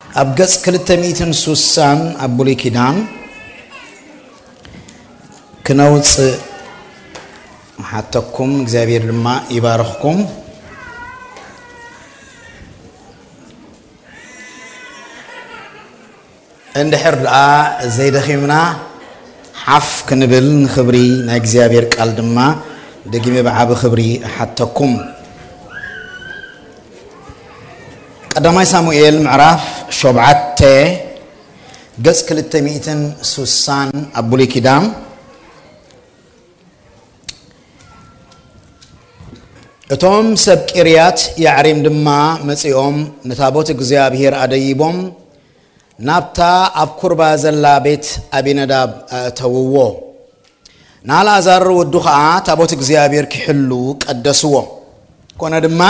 ኣብ ገጽ ክልተ ሚእትን ሱሳን ኣብ ብሉይ ኪዳን ክነውጽእ ሓተኩም፣ እግዚኣብሔር ድማ ይባርኽኩም። እንድሕር ደኣ ዘይደኺምና ሓፍ ክንብል ንኽብሪ ናይ እግዚኣብሔር ቃል ድማ ደጊመ ብዓቢ ክብሪ እሓተኩም። ቀዳማይ ሳሙኤል ምዕራፍ ሸውዓተ ገጽ ክልተ ሚእትን ሱሳን ኣብ ብሉይ ኪዳን። እቶም ሰብ ቂርያት ያዕሪም ድማ መጺኦም ንታቦት እግዚኣብሔር ኣደይቦም ናብታ ኣብ ኩርባ ዘላ ቤት ኣቢነዳብ ኣእተውዎ። ንኣልኣዛር ወዱ ኸኣ ታቦት እግዚኣብሔር ኪሕሉ ቀደስዎ። ኮነ ድማ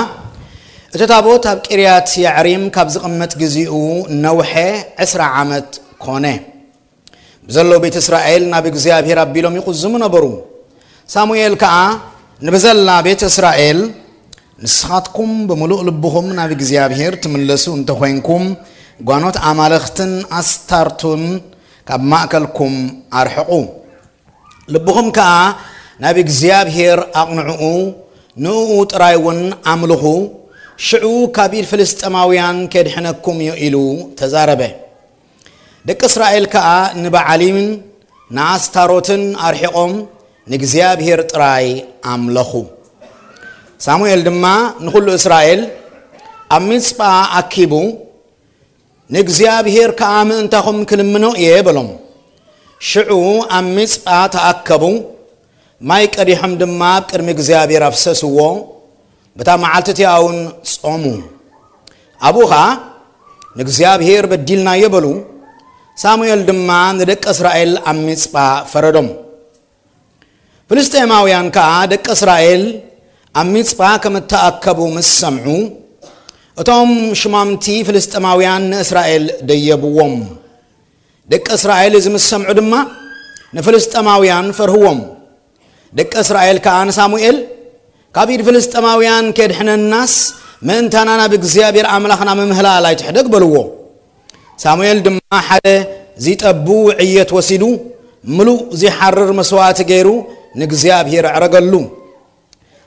እቲ ታቦት ኣብ ቂርያት ያዕሪም ካብ ዝቕመጥ ግዚኡ ነውሐ ዕስራ ዓመት ኮነ። ብዘለዉ ቤት እስራኤል ናብ እግዚኣብሔር ኣቢሎም ይቕዝሙ ነበሩ። ሳሙኤል ከኣ ንብዘላ ቤት እስራኤል፣ ንስኻትኩም ብምሉእ ልብኹም ናብ እግዚኣብሔር ትምለሱ እንተኾይንኩም፣ ጓኖት ኣማልኽትን ኣስታርቱን ካብ ማእከልኩም ኣርሕቑ። ልብኹም ከኣ ናብ እግዚኣብሔር ኣቕንዕኡ፣ ንእኡ ጥራይ እውን ኣምልኹ፣ ሽዑ ካብ ኢድ ፍልስጥኤማውያን ኬድሕነኩም እዩ ኢሉ ተዛረበ። ደቂ እስራኤል ከኣ ንበዓሊምን ንኣስታሮትን ኣርሒቖም ንእግዚኣብሔር ጥራይ ኣምለኹ። ሳሙኤል ድማ ንኹሉ እስራኤል ኣብ ሚጽጳ ኣኪቡ፣ ንእግዚኣብሔር ከኣ ምእንታኹም ክልምኖ እየ በሎም። ሽዑ ኣብ ሚጽጳ ተኣከቡ፣ ማይ ቀዲሖም ድማ ኣብ ቅድሚ እግዚኣብሔር ኣፍሰስዎ። በታ መዓልቲ እቲኣ እውን ጾሙ። ኣብኡ ኸኣ ንእግዚኣብሔር በዲልናዮ በሉ። ሳሙኤል ድማ ንደቂ እስራኤል ኣብ ሚጽጳ ፈረዶም። ፍልስጥኤማውያን ከኣ ደቂ እስራኤል ኣብ ሚጽጳ ከም እተኣከቡ ምስ ሰምዑ፣ እቶም ሽማምቲ ፍልስጥኤማውያን ንእስራኤል ደየብዎም። ደቂ እስራኤል እዚ ምስ ሰምዑ ድማ ንፍልስጥኤማውያን ፈርህዎም። ደቂ እስራኤል ከኣ ንሳሙኤል፣ "ካብ ኢድ ፍልስጥኤማውያን ኬድሕነናስ ምእንታና ናብ እግዚኣብሔር ኣምላኽና ምምህላል ኣይትሕደግ" በልዎ። ሳሙኤል ድማ ሓደ ዚጠቡ ዕየት ወሲዱ፣ ምሉእ ዚሓርር መስዋእቲ ገይሩ ንእግዚኣብሔር ኣዕረገሉ።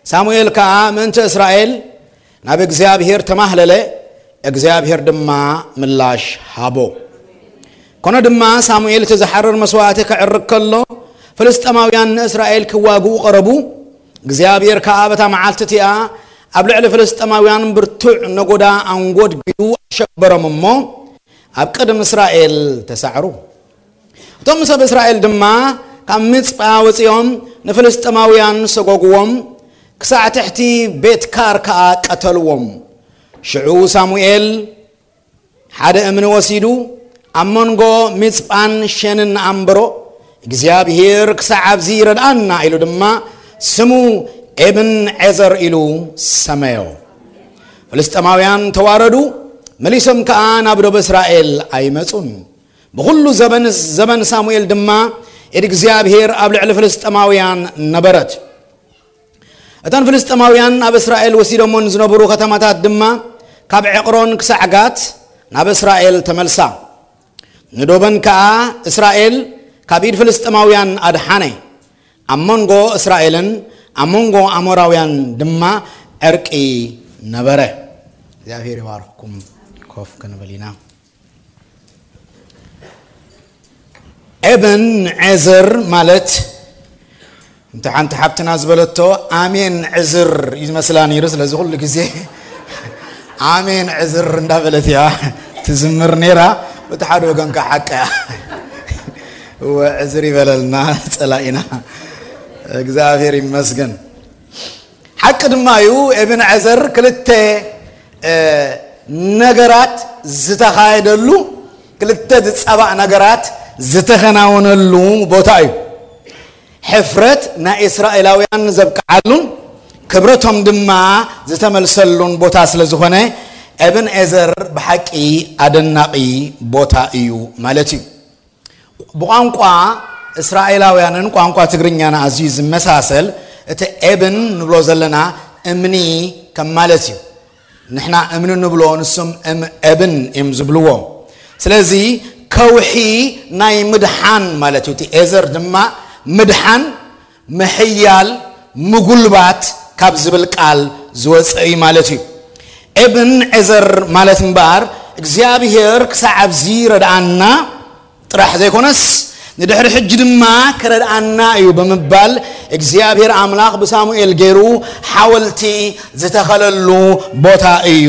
ሳሙኤል ከኣ ምእንቲ እስራኤል ናብ እግዚኣብሔር ተማህለለ፣ እግዚኣብሔር ድማ ምላሽ ሃቦ። ኮነ ድማ ሳሙኤል እቲ ዝሓርር መስዋእቲ ከዕርግ ከሎ፣ ፍልስጥኤማውያን ንእስራኤል ክዋግኡ ቀረቡ። እግዚኣብሔር ከኣ በታ መዓልቲ እቲኣ ኣብ ልዕሊ ፍልስጥኤማውያን ብርቱዕ ነጎዳ ኣንጎድጒዱ ኣሸበሮም እሞ፣ ኣብ ቅድሚ እስራኤል ተሳዕሩ። እቶም ሰብ እስራኤል ድማ ካብ ሚጽጳ ወጺኦም ንፍልስጥኤማውያን ሰጎግዎም፣ ክሳዕ ትሕቲ ቤት ካር ከኣ ቀተልዎም። ሽዑ ሳሙኤል ሓደ እምኒ ወሲዱ ኣብ መንጎ ሚጽጳን ሸንን ኣንበሮ፣ እግዚኣብሔር ክሳዕ ኣብዚ ይረድኣና ኢሉ ድማ ስሙ ኤብን ዔዘር ኢሉ ሰመዮ። ፍልስጥኤማውያን ተዋረዱ፣ መሊሶም ከኣ ናብ ደቡብ እስራኤል ኣይመጹን። ብኹሉ ዘበን፣ ዘበን ሳሙኤል ድማ ኢድ እግዚኣብሔር ኣብ ልዕሊ ፍልስጥኤማውያን ነበረት። እተን ፍልስጥኤማውያን ኣብ እስራኤል ወሲዶሞን ዝነበሩ ከተማታት ድማ ካብ ዕቕሮን ክሳዕ ጋት ናብ እስራኤል ተመልሳ። ንዶበን ከኣ እስራኤል ካብ ኢድ ፍልስጥኤማውያን ኣድሓነ። ኣብ መንጎ እስራኤልን ኣብ መንጎ ኣሞራውያን ድማ ዕርቂ ነበረ። እግዚኣብሔር ይባርኽኩም። ኮፍ ክንብል ኢና። ኤብን ዔዘር ማለት፣ እንተ ሓንቲ ሓብትና ዝበለቶ፣ ኣሜን ዕዝር እዩ ዝመስላ ነይሩ። ስለዚ ኩሉ ግዜ ኣሜን ዕዝር እንዳበለት እያ ትዝምር ነይራ። በቲ ሓደ ወገን ከኣ ሓቃ እያ። እወ፣ ዕዝር ይበለልና ጸላኢና። እግዚኣብሔር ይመስገን። ሓቂ ድማ እዩ፣ ኤብን ዔዘር ክልተ፣ እ፣ ነገራት ዝተኻየደሉ፣ ክልተ ዝጸባእ ነገራት ዝተኸናወነሉ ቦታ እዩ። ሕፍረት ናይ እስራኤላውያን ዘብቅዓሉን ክብረቶም ድማ ዝተመልሰሉን ቦታ ስለ ዝኾነ፣ ኤብን ዔዘር ብሓቂ ኣደናቒ ቦታ እዩ ማለት እዩ። ብቋንቋ እስራኤላውያንን ቋንቋ ትግርኛን ኣዝዩ ዝመሳሰል፣ እቲ ኤብን ንብሎ ዘለና እምኒ ከም ማለት እዩ። ንሕና እምኒ ንብሎ፣ ንሶም እም-፣ ኤብን እዮም ዝብልዎ። ስለዚ ከውሒ ናይ ምድሓን ማለት እዩ። እቲ ኤዘር ድማ ምድሓን፣ ምሕያል፣ ምጉልባት ካብ ዝብል ቃል ዝወፀ እዩ ማለት እዩ። ኤብን ኤዘር ማለት እምበኣር እግዚኣብሔር ክሳዕ ኣብዚ ረድኣና ጥራሕ ዘይኮነስ ንድሕሪ ሕጂ ድማ ክረድኣና እዩ ብምባል እግዚኣብሔር ኣምላኽ ብሳሙኤል ገይሩ ሓወልቲ ዝተኸለሉ ቦታ እዩ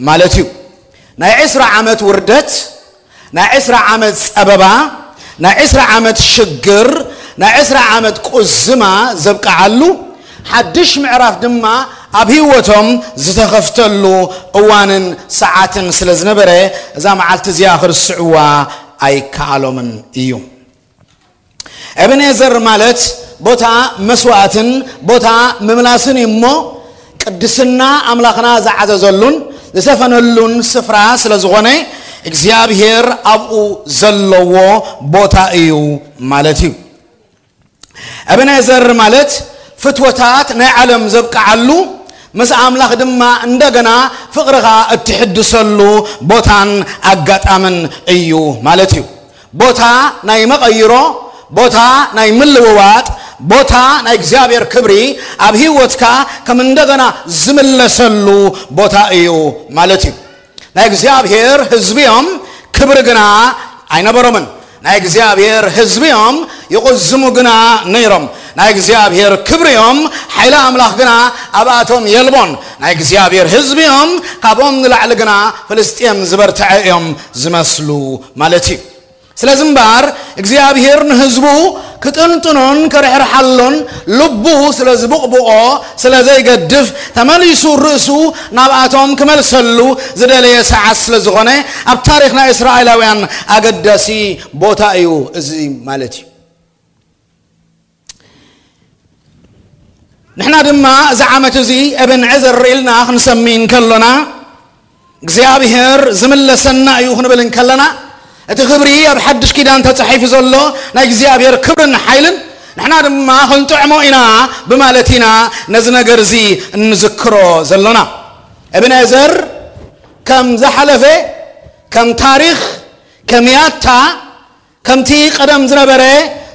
ማለት እዩ። ናይ ዕስራ ዓመት ውርደት፣ ናይ ዕስራ ዓመት ጸበባ፣ ናይ ዕስራ ዓመት ሽግር፣ ናይ ዕስራ ዓመት ቁዝማ ዘብቅዓሉ ሓድሽ ምዕራፍ ድማ ኣብ ህይወቶም ዝተኸፍተሉ እዋንን ሰዓትን ስለ ዝነበረ እዛ መዓልቲ እዚኣ ክርስዕዋ ኣይከኣሎምን እዩ። ኤብኔዘር ማለት ቦታ መስዋእትን ቦታ ምምላስን እዩ እሞ ቅድስና ኣምላኽና ዝዓዘዘሉን ዝሰፈነሉን ስፍራ ስለ ዝኾነ እግዚኣብሔር ኣብኡ ዘለዎ ቦታ እዩ ማለት እዩ። ኤብኔዘር ማለት ፍትወታት ናይ ዓለም ዘብቅዓሉ ምስ ኣምላኽ ድማ እንደገና ፍቕርኻ እትሕድሰሉ ቦታን ኣጋጣምን እዩ ማለት እዩ። ቦታ ናይ መቐይሮ፣ ቦታ ናይ ምልውዋጥ፣ ቦታ ናይ እግዚኣብሔር ክብሪ ኣብ ህይወትካ ከም እንደገና ዝምለሰሉ ቦታ እዩ ማለት እዩ። ናይ እግዚኣብሔር ህዝቢ እዮም፣ ክብሪ ግና ኣይነበሮምን። ናይ እግዚኣብሔር ህዝቢ እዮም፣ ይቕዝሙ ግና ነይሮም። ናይ እግዚኣብሔር ክብሪ እዮም፣ ሓይሊ ኣምላኽ ግና ኣብኣቶም የልቦን። ናይ እግዚኣብሔር ህዝቢ እዮም፣ ካብኦም ንላዕሊ ግና ፍልስጤም ዝበርትዐ እዮም ዝመስሉ ማለት እዩ። ስለዚ እምበኣር እግዚኣብሔር ንህዝቡ ክጥንጥኖን ከርሕርሓሎን ልቡ ስለ ዝብቕብቖ ስለ ዘይገድፍ ተመሊሱ ርእሱ ናብኣቶም ክመልሰሉ ዝደለየ ሰዓት ስለ ዝኾነ ኣብ ታሪኽ ናይ እስራኤላውያን ኣገዳሲ ቦታ እዩ እዚ ማለት እዩ። ንሕና ድማ እዚ ዓመት እዚ ኤብን ኤዘር ኢልና ክንሰሚ እንከሎና እግዚኣብሔር ዝምለሰና እዩ ክንብል እንከለና እቲ ክብሪ ኣብ ሓድሽ ኪዳን ተጻሒፉ ዘሎ ናይ እግዚኣብሔር ክብርን ሓይልን ንሕና ድማ ክንጥዕሞ ኢና ብማለት ኢና ነዚ ነገር እዚ እንዝክሮ ዘሎና። ኤብን ኤዘር ከም ዝሓለፈ ከም ታሪኽ ከም ያታ ከምቲ ቀደም ዝነበረ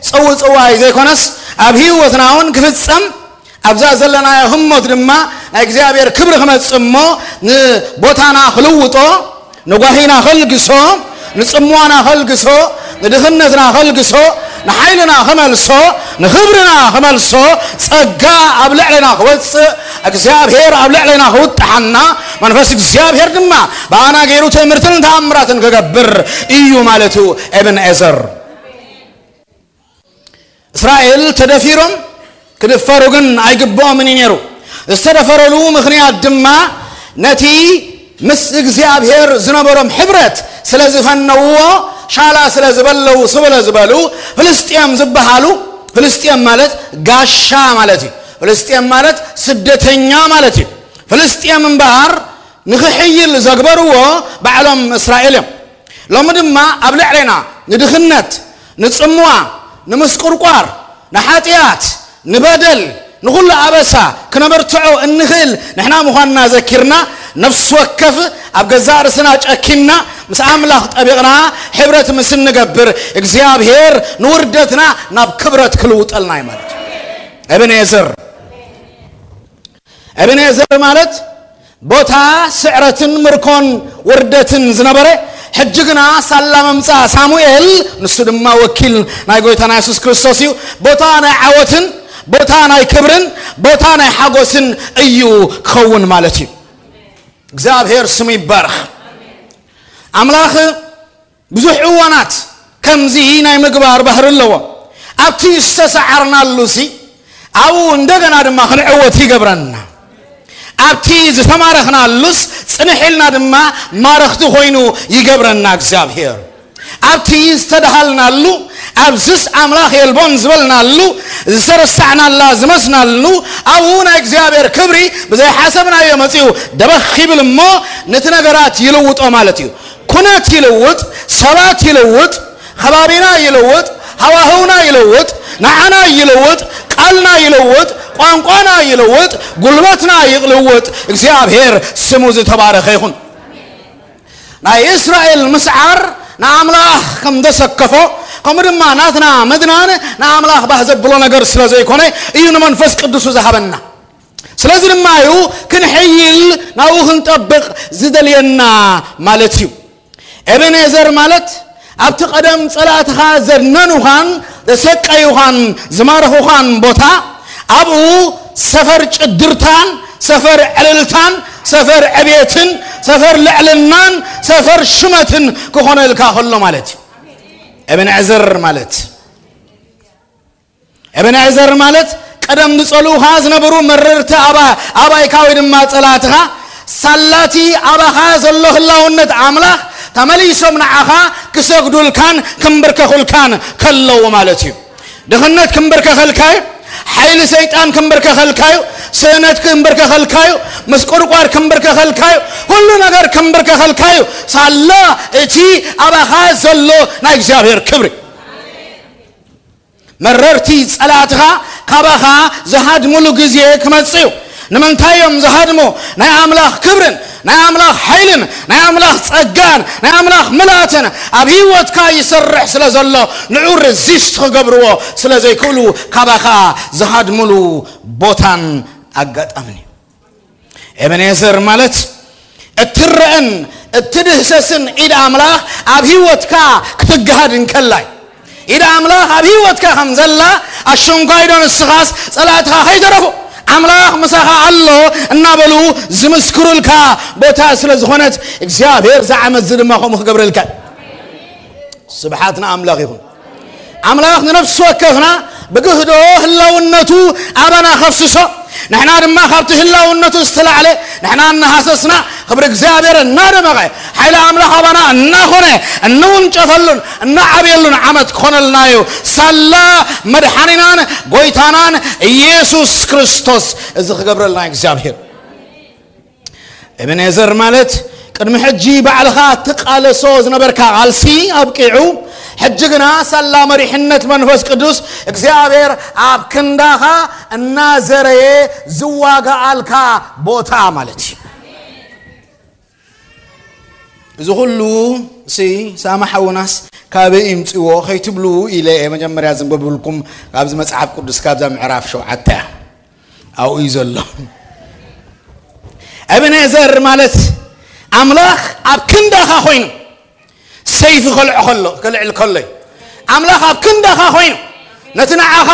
ጽውጽዋይ ዘይኮነስ ኣብ ህይወትና እውን ክፍጸም ኣብዛ ዘለናዮ ህሞት ድማ ናይ እግዚኣብሔር ክብሪ ክመጽእ እሞ ንቦታና ክልውጦ ንጓሂና ከልግሶ ንጽምዋና ከልግሶ ንድኽነትና ከልግሶ ንሓይልና ክመልሶ ንኽብርና ክመልሶ ጸጋ ኣብ ልዕለና ክወጽእ እግዚኣብሔር ኣብ ልዕለና ክውጥሓና መንፈስ እግዚኣብሔር ድማ ብኣና ገይሩ ትእምርትን ተኣምራትን ክገብር እዩ ማለት እዩ። ኤብን ኤዘር እስራኤል ተደፊሮም ክድፈሩ ግን ኣይግብኦምን እዩ ነይሩ። ዝተደፈረሉ ምኽንያት ድማ ነቲ ምስ እግዚኣብሔር ዝነበሮም ሕብረት ስለ ዝፈነውዎ ሻላ ስለ ዝበለው ስለ ዝበሉ ፍልስጤም ዝበሃሉ ፍልስጤም ማለት ጋሻ ማለት እዩ። ፍልስጤም ማለት ስደተኛ ማለት እዩ። ፍልስጤም እምበኣር ንኽሕይል ዘግበርዎ ባዕሎም እስራኤል እዮም። ሎሚ ድማ ኣብ ልዕሌና ንድኽነት ንጽምዋ ንምስቁርቋር ንሓጢኣት ንበደል ንኹሉ ኣበሳ ክነበርትዖ እንኽእል ንሕና ምዃንና ዘኪርና ነፍሲ ወከፍ ኣብ ገዛእ ርእስና ጨኪንና ምስ ኣምላኽ ጠቢቕና ሕብረት ምስ እንገብር እግዚኣብሔር ንውርደትና ናብ ክብረት ክልውጠልና እዩ ማለት እዩ። እብን ኤዘር እብን ኤዘር ማለት ቦታ ስዕረትን ምርኮን ውርደትን ዝነበረ ሕጂ ግና ሳላ መምፃእ ሳሙኤል ንሱ ድማ ወኪል ናይ ጎይታና የሱስ ክርስቶስ እዩ። ቦታ ናይ ዓወትን ቦታ ናይ ክብርን ቦታ ናይ ሓጎስን እዩ ክኸውን ማለት እዩ። እግዚኣብሔር ስሙ ይባረኽ። ኣምላኽ ብዙሕ እዋናት ከምዚ ናይ ምግባር ባህሪ ኣለዎ። ኣብቲ ዝተሰዓርናሉ ሲ ኣብኡ እንደገና ድማ ክንዕወት ይገብረና። ኣብቲ ዝተማረኽናሉስ ጽንሕ ኢልና ድማ ማረኽቲ ኮይኑ ይገብረና እግዚኣብሔር። ኣብቲ ዝተድሃልናሉ ኣብዝስ ኣምላኽ የልቦን ዝበልናሉ ዝተረሳዕናላ ዝመስናሉ ኣብኡ ናይ እግዚኣብሔር ክብሪ ብዘይሓሰብናዮ መጺኡ ደበኽ ይብል እሞ ነቲ ነገራት ይልውጦ ማለት እዩ። ኩነት ይልውጥ፣ ሰባት ይልውጥ፣ ከባቢና ይልውጥ፣ ሃዋህውና ይልውጥ፣ ንዓና ይልውጥ፣ ቃልና ይልውጥ፣ ቋንቋና ይልውጥ፣ ጉልበትና ይልውጥ። እግዚኣብሔር ስሙ ዝተባረኸ ይኹን። ናይ እስራኤል ምስዓር ንኣምላኽ ከም ዘሰከፎ፣ ከምኡ ድማ ናትና ምድናን ንኣምላኽ ባህ ዘብሎ ነገር ስለ ዘይኮነ እዩ ንመንፈስ ቅዱሱ ዝሃበና። ስለዚ ድማ እዩ ክንሕይል ናብኡ ክንጠብቕ ዝደልየና ማለት እዩ። ኤቤኔዘር ማለት ኣብቲ ቀደም ጸላእትኻ ዘድነኑኻን ዘሰቀዩኻን ዝማረኹኻን ቦታ ኣብኡ ሰፈር ጭድርታን ሰፈር ዕልልታን ሰፈር ዕቤትን ሰፈር ልዕልናን ሰፈር ሽመትን ክኾነልካ ከሎ ማለት እዩ። ኤቤኔዘር ማለት ኤቤኔዘር ማለት ቀደም ዝጸልኡኻ ዝነበሩ መረርቲ ኣባ ኣባይካ ወይ ድማ ጸላእትኻ ሳላቲ ኣባኻ ዘሎ ህላውነት ኣምላኽ ተመሊሶም ንዓኻ ክሰግዱልካን ክምብርከኹልካን ከለዉ ማለት እዩ። ድኽነት ክምብርከኸልካዩ፣ ሓይሊ ሰይጣን ክምብርከኸልካዩ፣ ስእነት ክምብርከኸልካዩ፣ ምስቁርቋር ክምብርከኸልካዩ፣ ኩሉ ነገር ክምብርከኸልካዩ። ሳላ እቲ ኣባኻ ዘሎ ናይ እግዚኣብሔር ክብሪ መረርቲ ጸላእትኻ ካባኻ ዝሃድሙሉ ግዜ ክመጽእ እዩ። ንምንታይ እዮም ዝሃድሙ? ናይ ኣምላኽ ክብርን ናይ ኣምላኽ ሓይልን ናይ ኣምላኽ ጸጋን ናይ ኣምላኽ ምልኣትን ኣብ ህይወትካ ይሰርሕ ስለ ዘሎ ንዑ ርዚስት ክገብርዎ ስለ ዘይክእሉ ካባኻ ዝሃድሙሉ ቦታን ኣጋጣምን እዩ። ኤቤኔዘር ማለት እትረአን እትድህሰስን ኢድ ኣምላኽ ኣብ ህይወትካ ክትግሃድ እንከላይ ኢድ ኣምላኽ ኣብ ህይወትካ ከም ዘላ ኣሸንኳይዶ ንስኻስ ጸላእትኻ ከይተረፉ ኣምላኽ ምሳኻ ኣሎ እናበሉ ዝምስክሩልካ ቦታ ስለ ዝኾነት እግዚኣብሔር ዝዓመት እዚ ድማ ከምኡ ክገብረልካ እዩ። ስብሓት ንኣምላኽ ይኹን። ኣምላኽ ንነፍሲ ወከፍና ብግህዶ ህላውነቱ ኣባና ከፍስሶ ንሕና ድማ ካብቲ ህላውነቱ ዝተላዕለ ንሕና እናሃሰስና ክብሪ እግዚኣብሔር እናደመቐ ሓይሊ ኣምላኽ ኣባና እናኾነ እንውንጨፈሉን እናዓብየሉን ዓመት ክኾነልና እዩ። ሳላ መድሓኒናን ጎይታናን ኢየሱስ ክርስቶስ እዚ ክገብረልና እግዚኣብሔር። ኤቤኔዘር ማለት ቅድሚ ሕጂ ባዕልኻ ትቃለሶ ዝነበርካ ቃልሲ ኣብቂዑ ሕጂ ግና ሳላ መሪሕነት መንፈስ ቅዱስ እግዚኣብሔር ኣብ ክንዳኻ እናዘረየ ዝዋጋኣልካ ቦታ ማለት እዩ። እዚ ኩሉ ሲ ሳማ ሓውናስ ካበይ ይምፅዎ ከይትብሉ ኢለ እየ መጀመርያ ዘንበብልኩም። ካብዚ መፅሓፍ ቅዱስ ካብዛ ምዕራፍ ሸውዓተ እያ ኣብኡ እዩ ዘሎ። ኤቤኔዘር ማለት ኣምላኽ ኣብ ክንዳኻ ኮይኑ ሰይፊ ከልዕ ከሎ ከልዕል ከሎ እዩ። ኣምላኽ ኣብ ክንዳኻ ኮይኑ ነቲ ንዓኻ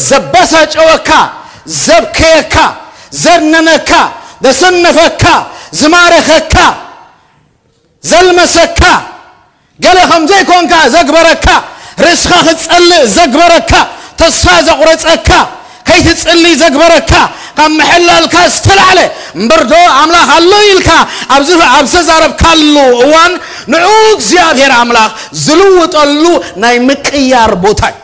ዘባሳጨወካ ዘብከየካ ዘድነነካ ዘሰነፈካ ዝማረኸካ ዘልመሰካ ገለ ከም ዘይኮንካ ዘግበረካ ርእስኻ ክትጸልእ ዘግበረካ ተስፋ ዘቑረጸካ ከይትጽሊ ዘግበረካ ካብ ምሕላልካ ዝተላዕለ እምበርዶ ኣምላኽ ኣሎ ኢልካ ኣብዚ ኣብ ዝተዛረብካሉ እዋን ንዑ እግዚኣብሔር ኣምላኽ ዝልውጠሉ ናይ ምቅያር ቦታ እዩ።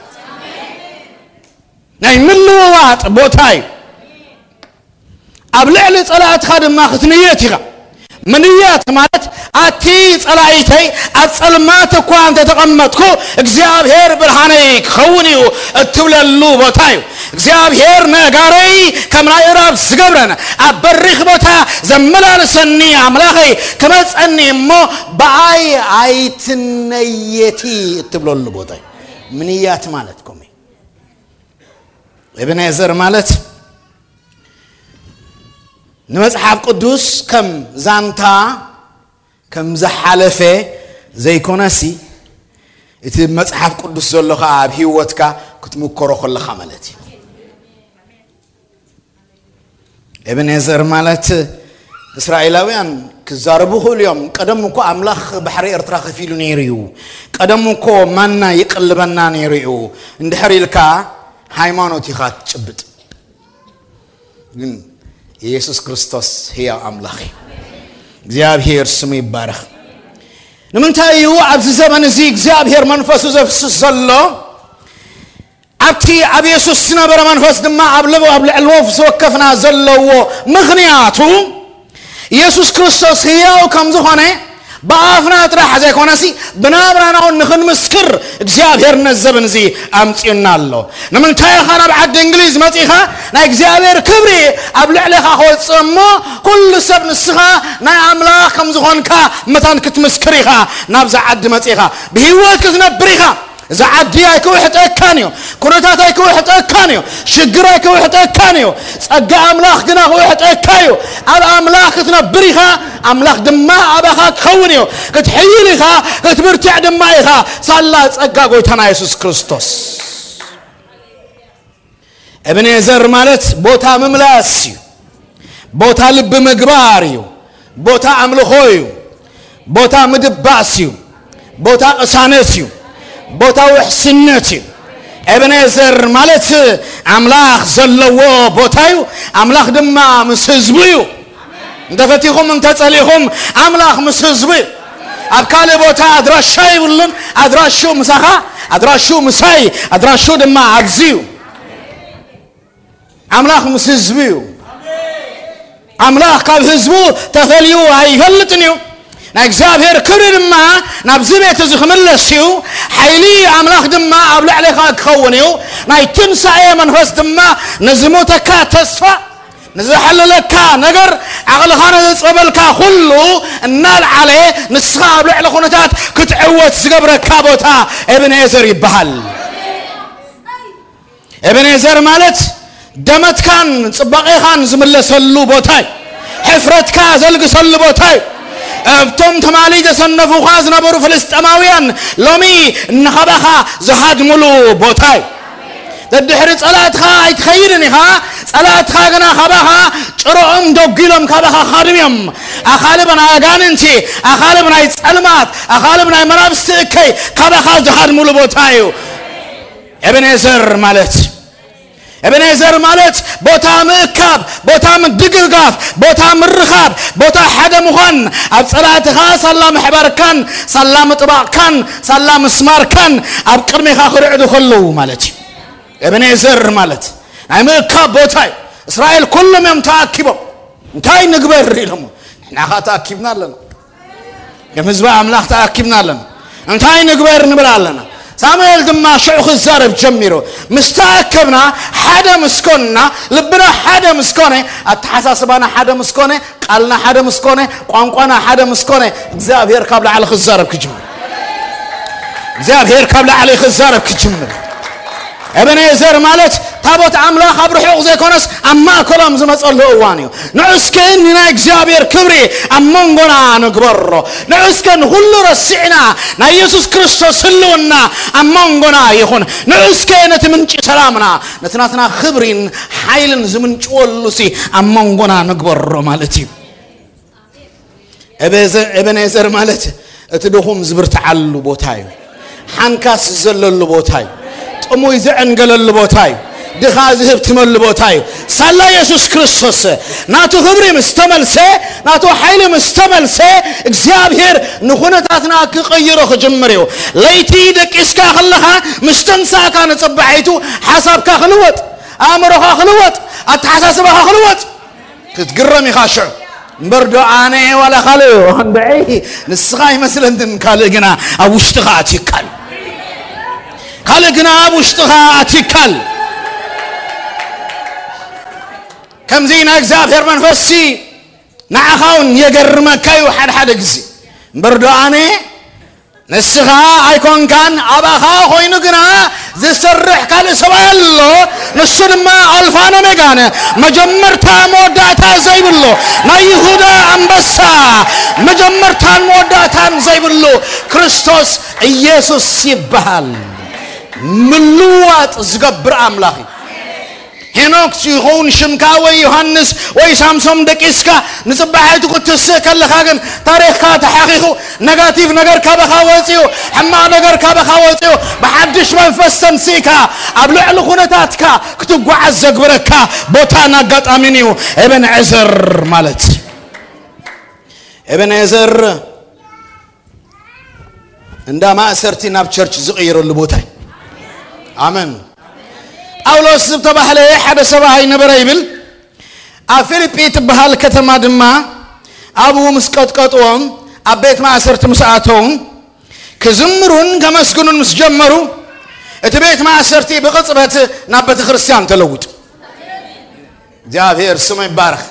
ናይ ምልውዋጥ ቦታ እዩ። ኣብ ልዕሊ ጸላእትኻ ድማ ክትንየት ኢኻ። ምንያት ማለት ኣቲ ጸላኢተይ ኣብ ጸልማት እኳ እንተተቐመጥኩ እግዚኣብሔር ብርሃነይ ክኸውን እዩ እትብለሉ ቦታ እዩ። እግዚኣብሔር ነጋረይ ከም ናይ እራብ ዝገብረን ኣብ በሪኽ ቦታ ዘመላልሰኒ ኣምላኸይ ክመጸኒ እሞ ብኣይ ኣይትነየቲ እትብለሉ ቦታ እዩ። ምንያት ማለት ኮሚ ኤቤኔዘር ማለት ንመጽሓፍ ቅዱስ ከም ዛንታ ከም ዝሓለፈ ዘይኮነሲ እቲ መጽሓፍ ቅዱስ ዘሎ ኸዓ ኣብ ህይወትካ ክትምከሮ ከለኻ ማለት እዩ። ኤቤኔዘር ማለት እስራኤላውያን ክዛረቡ ክእሉ እዮም። ቀደም እኮ ኣምላኽ ባሕሪ ኤርትራ ከፊሉ ነይሩ እዩ። ቀደም እኮ ማና ይቅልበና ነይሩ እዩ። እንድሕር ኢልካ ሃይማኖት ኢኻ ትጭብጥ። ግን ኢየሱስ ክርስቶስ ህያው ኣምላኽ እዩ። እግዚኣብሔር ስሙ ይባረኽ። ንምንታይ እዩ ኣብዚ ዘመን እዚ እግዚኣብሔር መንፈሱ ዘፍስስ ዘሎ? ኣብቲ ኣብ የሱስ ዝነበረ መንፈስ ድማ ኣብ ልብ ኣብ ልዕሊ ወፍ ዝወከፍና ዘለዎ ምኽንያቱ የሱስ ክርስቶስ ህያው ከም ዝኾነ ብኣፍና ጥራሕ ዘይኮነሲ ብናብራና እውን ንኽንምስክር እግዚኣብሔር ነዚ ዘበን እዚ ኣምጺኡና ኣሎ። ንምንታይ ኢኻ ናብ ዓዲ እንግሊዝ መጺኻ ናይ እግዚኣብሔር ክብሪ ኣብ ልዕሌኻ ክወጽእ እሞ ኩሉ ሰብ ንስኻ ናይ ኣምላኽ ከም ዝኾንካ መታን ክትምስክር ኢኻ ናብዛ ዓዲ መጺኻ። ብህይወት ክትነብር ኢኻ። እዚ ዓዲ ኣይክውሕጠካን እዩ። ኩነታት ኣይክውሕጠካን እዩ። ሽግር ኣይክውሕጠካን እዩ። ጸጋ ኣምላኽ ግና ክውሕጠካ እዩ። ኣብ ኣምላኽ ክትነብር ኢኻ። ኣምላኽ ድማ ኣባኻ ክኸውን እዩ። ክትሕይል ኢኻ። ክትብርትዕ ድማ ኢኻ። ሳላ ጸጋ ጎይታና የሱስ ክርስቶስ። እብኔዘር ማለት ቦታ ምምላስ እዩ። ቦታ ልቢ ምግባር እዩ። ቦታ ኣምልኾ እዩ። ቦታ ምድባስ እዩ። ቦታ ቅሳነት እዩ። ቦታ ውሕስነት እዩ። እብኔዘር ማለት ኣምላኽ ዘለዎ ቦታ እዩ። ኣምላኽ ድማ ምስ ህዝቡ እዩ። እንተፈቲኹም እንተጸሊኹም ኣምላኽ ምስ ህዝቡ እዩ። ኣብ ካልእ ቦታ ኣድራሻ ይብሉን። ኣድራሹ ምሳኻ፣ ኣድራሹ ምሳይ፣ ኣድራሹ ድማ ኣብዚ እዩ። ኣምላኽ ምስ ህዝቡ እዩ። ኣምላኽ ካብ ህዝቡ ተፈልዩ ኣይፈልጥን እዩ። ናይ እግዚኣብሔር ክብሪ ድማ ናብዚ ቤት እዚ ክምለስ እዩ። ሓይሊ ኣምላኽ ድማ ኣብ ልዕሌኻ ክኸውን እዩ። ናይ ትንሳኤ መንፈስ ድማ ንዝሞተካ ተስፋ፣ ንዝሓለለካ ነገር፣ ዓቕልኻ ንዘጸበልካ ኩሉ እናልዓለ ንስኻ ኣብ ልዕሊ ኩነታት ክትዕወት ዝገብረካ ቦታ ኤብንኤዘር ይበሃል። ኤቤኔዘር ማለት ደመትካን ጽባቐኻን ዝምለሰሉ ቦታ እዩ። ሕፍረትካ ዘልግሰሉ ቦታ እዩ። እብቶም ትማሊ ዘሰነፉኻ ዝነበሩ ፍልስጤማውያን ሎሚ ንኻባኻ ዝሃድሙሉ ቦታ እዩ። ደድሕሪ ጸላእትኻ ኣይትኸይድን ኢኻ። ጸላእትኻ ግና ካባኻ ጭሮኦም ደጒሎም ካባኻ ክሃድሙ እዮም። ኣኻልብ ናይ ኣጋንንቲ፣ ኣኻልብ ናይ ጸልማት፣ ኣኻልብ ናይ መናፍስቲ እከይ ካባኻ ዝሃድሙሉ ቦታ እዩ። ኤቤኔዘር ማለት ኤቤኔዘር ማለት ቦታ ምእካብ፣ ቦታ ምድግጋፍ፣ ቦታ ምርኻብ፣ ቦታ ሓደ ምዃን፣ ኣብ ጸላእትኻ ሳላ ምሕባርካን ሳላ ምጥባቕካን ሳላ ምስማርካን ኣብ ቅድሜኻ ክርዕዱ ከለዉ ማለት እዩ። ኤቤኔዘር ማለት ናይ ምእካብ ቦታ እዩ። እስራኤል ኩሎም እዮም ተኣኪቦም። እንታይ ንግበር ኢሎም። ንሕና ኸኣ ተኣኪብና ኣለና። ከም ህዝቢ ኣምላኽ ተኣኪብና ኣለና። እንታይ ንግበር ንብል ኣለና። ሳሙኤል ድማ ሽዑ ክዛረብ ጀሚሩ። ምስ ተኣከብና፣ ሓደ ምስ ኮንና፣ ልብና ሓደ ምስ ኮነ፣ ኣተሓሳስባና ሓደ ምስ ኮነ፣ ቃልና ሓደ ምስ ኮነ፣ ቋንቋና ሓደ ምስ ኮነ፣ እግዚኣብሔር ካብ ላዕሊ ክዛረብ ክጅምር። እግዚኣብሔር ካብ ላዕሊ ክዛረብ ክጅምር። ኤቤኔዘር ማለት ታቦት ኣምላኽ ኣብ ርሑቕ ዘይኮነስ ኣብ ማእከሎም ዝመጸሉ እዋን እዩ። ንዑ እስከ ንናይ እግዚኣብሔር ክብሪ ኣብ መንጎና ንግበሮ። ንዑ እስከ ንኹሉ ረሲዕና ናይ የሱስ ክርስቶስ ህልውና ኣብ መንጎና ይኹን። ንዑ እስከ ነቲ ምንጪ ሰላምና፣ ነቲ ናትና ክብሪን ሓይልን ዝምንጭወሉሲ ኣብ መንጎና ንግበሮ ማለት እዩ። ኤቤዘ-፣ ኤቤኔዘር ማለት እቲ ድኹም ዝብርትዓሉ ቦታ እዩ። ሓንካስ ዝዘለሉ ቦታ እዩ። ጥሙይ ዝዕንገለሉ ቦታ እዩ። ድኻ ዝህብትመሉ ቦታ እዩ። ሳላ የሱስ ክርስቶስ ናቱ ክብሪ ምስ ተመልሰ፣ ናቱ ሓይሊ ምስ ተመልሰ፣ እግዚኣብሔር ንኹነታትና ክቕይሮ ክጅምር እዩ። ለይቲ ደቂስካ ከለኻ፣ ምስ ተንሳእካ ንጽባሒቱ ሓሳብካ ክልወጥ፣ ኣእምሮኻ ክልወጥ፣ ኣተሓሳስባኻ ክልወጥ። ክትግረም ኢኻ ሽዑ። እምበር ዶ ኣነ ዋላ ካልእ እንድዒ ንስኻ ኣይመስለንን፣ ካልእ ግና ኣብ ውሽጥኻ ኣትዩካ ኣሎ። ካልእ ግና ኣብ ውሽጥኻ ኣትዩካ ኣሎ። ከምዚ ናይ እግዚኣብሔር መንፈስሲ ንዓኻ እውን የገርመካ እዩ ሓድሓደ ግዜ። እምበር ዶ ኣነ ንስኻ ኣይኮንካን፣ ኣባኻ ኮይኑ ግና ዝሰርሕ ካልእ ሰብኣይ ኣሎ። ንሱ ድማ ኣልፋን ኦሜጋን፣ መጀመርታ መወዳእታ ዘይብሉ፣ ናይ ይሁዳ ኣንበሳ፣ መጀመርታን መወዳእታን ዘይብሉ ክርስቶስ ኢየሱስ ይበሃል። ምልዋጥ ዝገብር ኣምላኽ እዩ። ሄኖክ ይኸውን ሽምካ፣ ወይ ዮሃንስ ወይ ሳምሶም ደቂስካ ንጽባሒቱ ክትስእ ከለኻ ግን ታሪኽካ ተሓኺኹ፣ ነጋቲቭ ነገር ካባኻ ወጺኡ፣ ሕማቕ ነገር ካባኻ ወጺኡ፣ ብሓድሽ መንፈስ ተንሲእካ ኣብ ልዕሊ ኩነታትካ ክትጓዓዝ ዘግብረካ ቦታን ኣጋጣሚን እዩ ኤቤንዔዘር ማለት። ኤቤንዔዘር እንዳ ማእሰርቲ ናብ ቸርች ዝቕይረሉ ቦታ እዩ። ኣመን። ጳውሎስ ዝተባህለ ሓደ ሰብኣይ ነበረ ይብል። ኣብ ፊልጲ ትበሃል ከተማ ድማ ኣብኡ ምስ ቀጥቀጥዎም፣ ኣብ ቤት ማእሰርቲ ምስ ኣተውን ክዝምሩን ከመስግኑን ምስ ጀመሩ እቲ ቤት ማእሰርቲ ብቕጽበት ናብ ቤተ ክርስቲያን ተለውጡ። እግዚኣብሔር ስሙ ይባረኽ።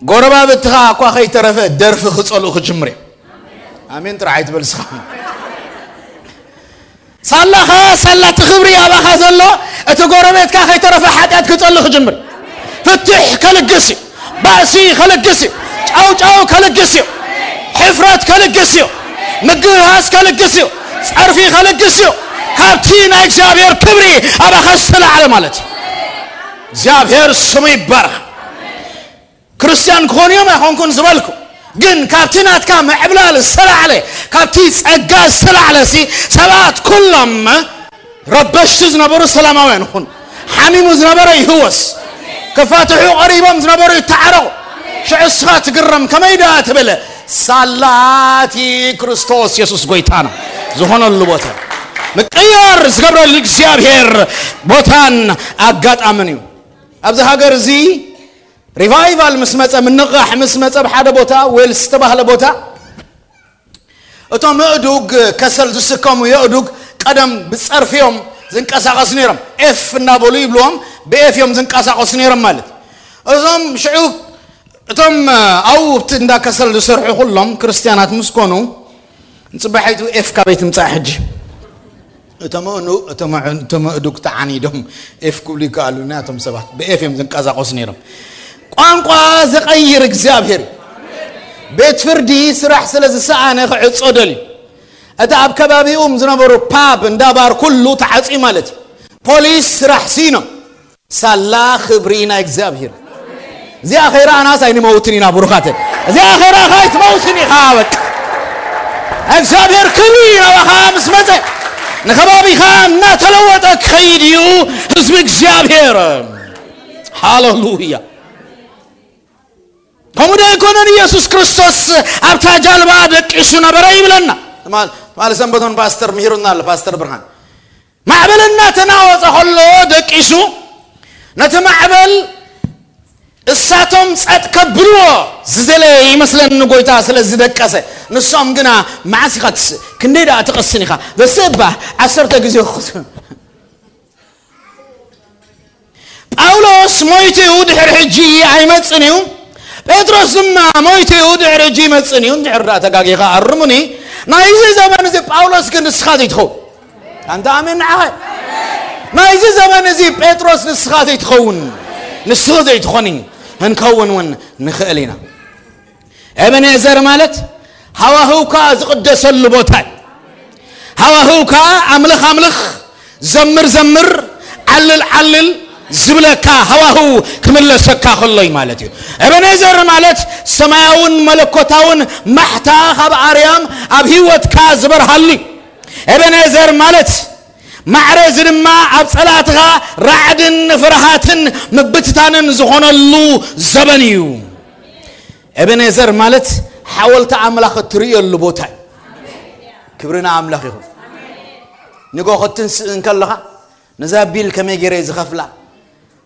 ጎረባብትኻ እኳ ከይተረፈ ደርፊ ክጸልኡ ክጅምር እዮም። ኣሜን ጥራሕ ኣይትበል እስኻ። ሳላኻ ሳላ እቲ ክብሪ ኣባኻ ዘሎ እቲ ጎረቤትካ ከይተረፈ ሓጢኣት ክጸልእ ክጅምር፣ ፍትሕ ከልግስ እዩ። ባእሲ ከልግስ እዩ። ጫውጫው ከልግስ እዩ። ሕፍረት ከልግስ እዩ። ምግህሃስ ከልግስ እዩ። ጸርፊ ከልግስ እዩ። ካብቲ ናይ እግዚኣብሔር ክብሪ ኣባኻ ዝተላዕለ ማለት እዩ። እግዚኣብሔር ስሙ ይባረኽ። ክርስቲያን ክኾኑ እዮም ኣይኾንኩን ዝበልኩ፣ ግን ካብቲ ናትካ ምዕብላል ዝተላዕለ፣ ካብቲ ጸጋ ዝተላዕለ ሲ ሰባት ኩሎም ረበሽቲ ዝነበሩ ሰላማውያን ይኹኑ። ሓሚሙ ዝነበረ ይህወስ። ክፋትሑ ቀሪቦም ዝነበሩ ይተዓረቑ። ሽዑ እስኻ ትግረም፣ ከመይ ደኣ ትብል? ሳላ እቲ ክርስቶስ የሱስ ጎይታና ዝኾነሉ ቦታ ምቅያር ዝገብረሉ እግዚኣብሔር ቦታን ኣጋጣምን እዩ። ኣብዚ ሃገር እዚ ሪቫይቫል ምስ መጸ፣ ምንቕቓሕ ምስ መጸ፣ ኣብ ሓደ ቦታ ዌልስ ዝተባህለ ቦታ እቶም የእዱግ፣ ከሰል ዝስከሙ የእዱግ ቀደም ብጸርፊ እዮም ዝንቀሳቐሱ ነይሮም። ኤፍ እናበሉ ይብልዎም፣ ብኤፍ እዮም ዝንቀሳቐሱ ነይሮም ማለት። እዞም ሽዑ እቶም ኣብኡ ኣብቲ እንዳ ከሰል ዝሰርሑ ኩሎም ክርስትያናት ምስ ኮኑ፣ ንጽባሒቱ ኤፍ ካበይ ትምጻእ ሕጂ? እቶም ኣእኑ-፣ እቶም ኣዕ-፣ እቶም ኣእዱግ ተዓኒዶም ኤፍ ክብሉ ይከኣሉ፣ ናቶም ሰባት ብኤፍ እዮም ዝንቀሳቐሱ ነይሮም። ቋንቋ ዝቐይር እግዚኣብሔር እዩ። ቤት ፍርዲ ስራሕ ስለ ዝሰኣነ ክዕጾ ደልዩ። እቲ ኣብ ከባቢኦም ዝነበሩ ፓብ፣ እንዳ ባር ኩሉ ተዓጽዩ ማለት እዩ። ፖሊስ ስራሕ ስኢኖም። ሳላ ክብሪ ናይ እግዚኣብሔር። እዚኣ ከይረኣናስ ኣይንመውትን ኢና ብሩኻት። እዚኣ ከይረኣኻ ኣይትመውትን ኢኻ። በቃ እግዚኣብሔር ክብሪ ናባኻ ምስ መጸ ንከባቢኻ እናተለወጠ ክኸይድ እዩ። ህዝቢ እግዚኣብሔር፣ ሃሌሉያ። ከምኡ ዶ ኣይኮነን? ኢየሱስ ክርስቶስ ኣብታ ጃልባ ደቂሱ ነበረ ይብለና። ትማል-፣ ትማሊ ሰንበቶን ፓስተር ምሂሩና ኣሎ፣ ፓስተር ብርሃን። ማዕበል እናተናወጸ ከሎ ደቂሱ፣ ነቲ ማዕበል እሳቶም ጸጥ ከብልዎ ዝደለየ ይመስለኒ ጎይታ ስለ ዝደቀሰ። ንሶም ግና፣ "መዓስ ኢኻ ትስ-፣ ክንደይ ደኣ ትቐስን ኢኻ?" በስእባ ዓሰርተ ግዜ ክስ-፣ ጳውሎስ ሞይቱ እዩ፣ ድሕሪ ሕጂ ኣይመጽን እዩ። ጴጥሮስ ድማ ሞይቱ እዩ፣ ድሕሪ ሕጂ ይመጽን እዩ። እንድሕር ደኣ ተጋጊኻ ኣርሙኒ። ናይዚ ዘመን እዚ ጳውሎስ ግን ንስኻ ዘይትኸውን። ኣንታ ኣሜን ንዓኸ። ናይዚ ዘመን እዚ ጴጥሮስ ንስኻ ዘይትኸውን፣ ንስኻ ዘይትኾኒ፣ ክንከውን እውን ንኽእል ኢና። ኤቤኔዘር ማለት ሃዋህውካ ዝቕደሰሉ ቦታ እዩ። ሃዋህውካ ኣምልኽ ኣምልኽ፣ ዘምር ዘምር፣ ዓልል ዓልል ዝብለካ ሃዋህው ክምለሰካ ከሎ እዩ ማለት እዩ። ኤቤኔዘር ማለት ሰማያውን መለኮታውን ማሕታ ካብ ኣርያም ኣብ ህይወትካ ዝበርሃሉ እዩ። ኤቤኔዘር ማለት ማዕረ እዚ ድማ ኣብ ጸላእትኻ ራዕድን ፍርሃትን ምብትታንን ዝኾነሉ ዘበን እዩ። ኤቤኔዘር ማለት ሓወልቲ ኣምላኽ እትርእየሉ ቦታ እዩ። ክብሪ ንኣምላኽ ይኹን። ንጎ ክትንስእ እንከለኻ፣ "ነዛ ቢል ከመይ ገይረ ዝኸፍላ?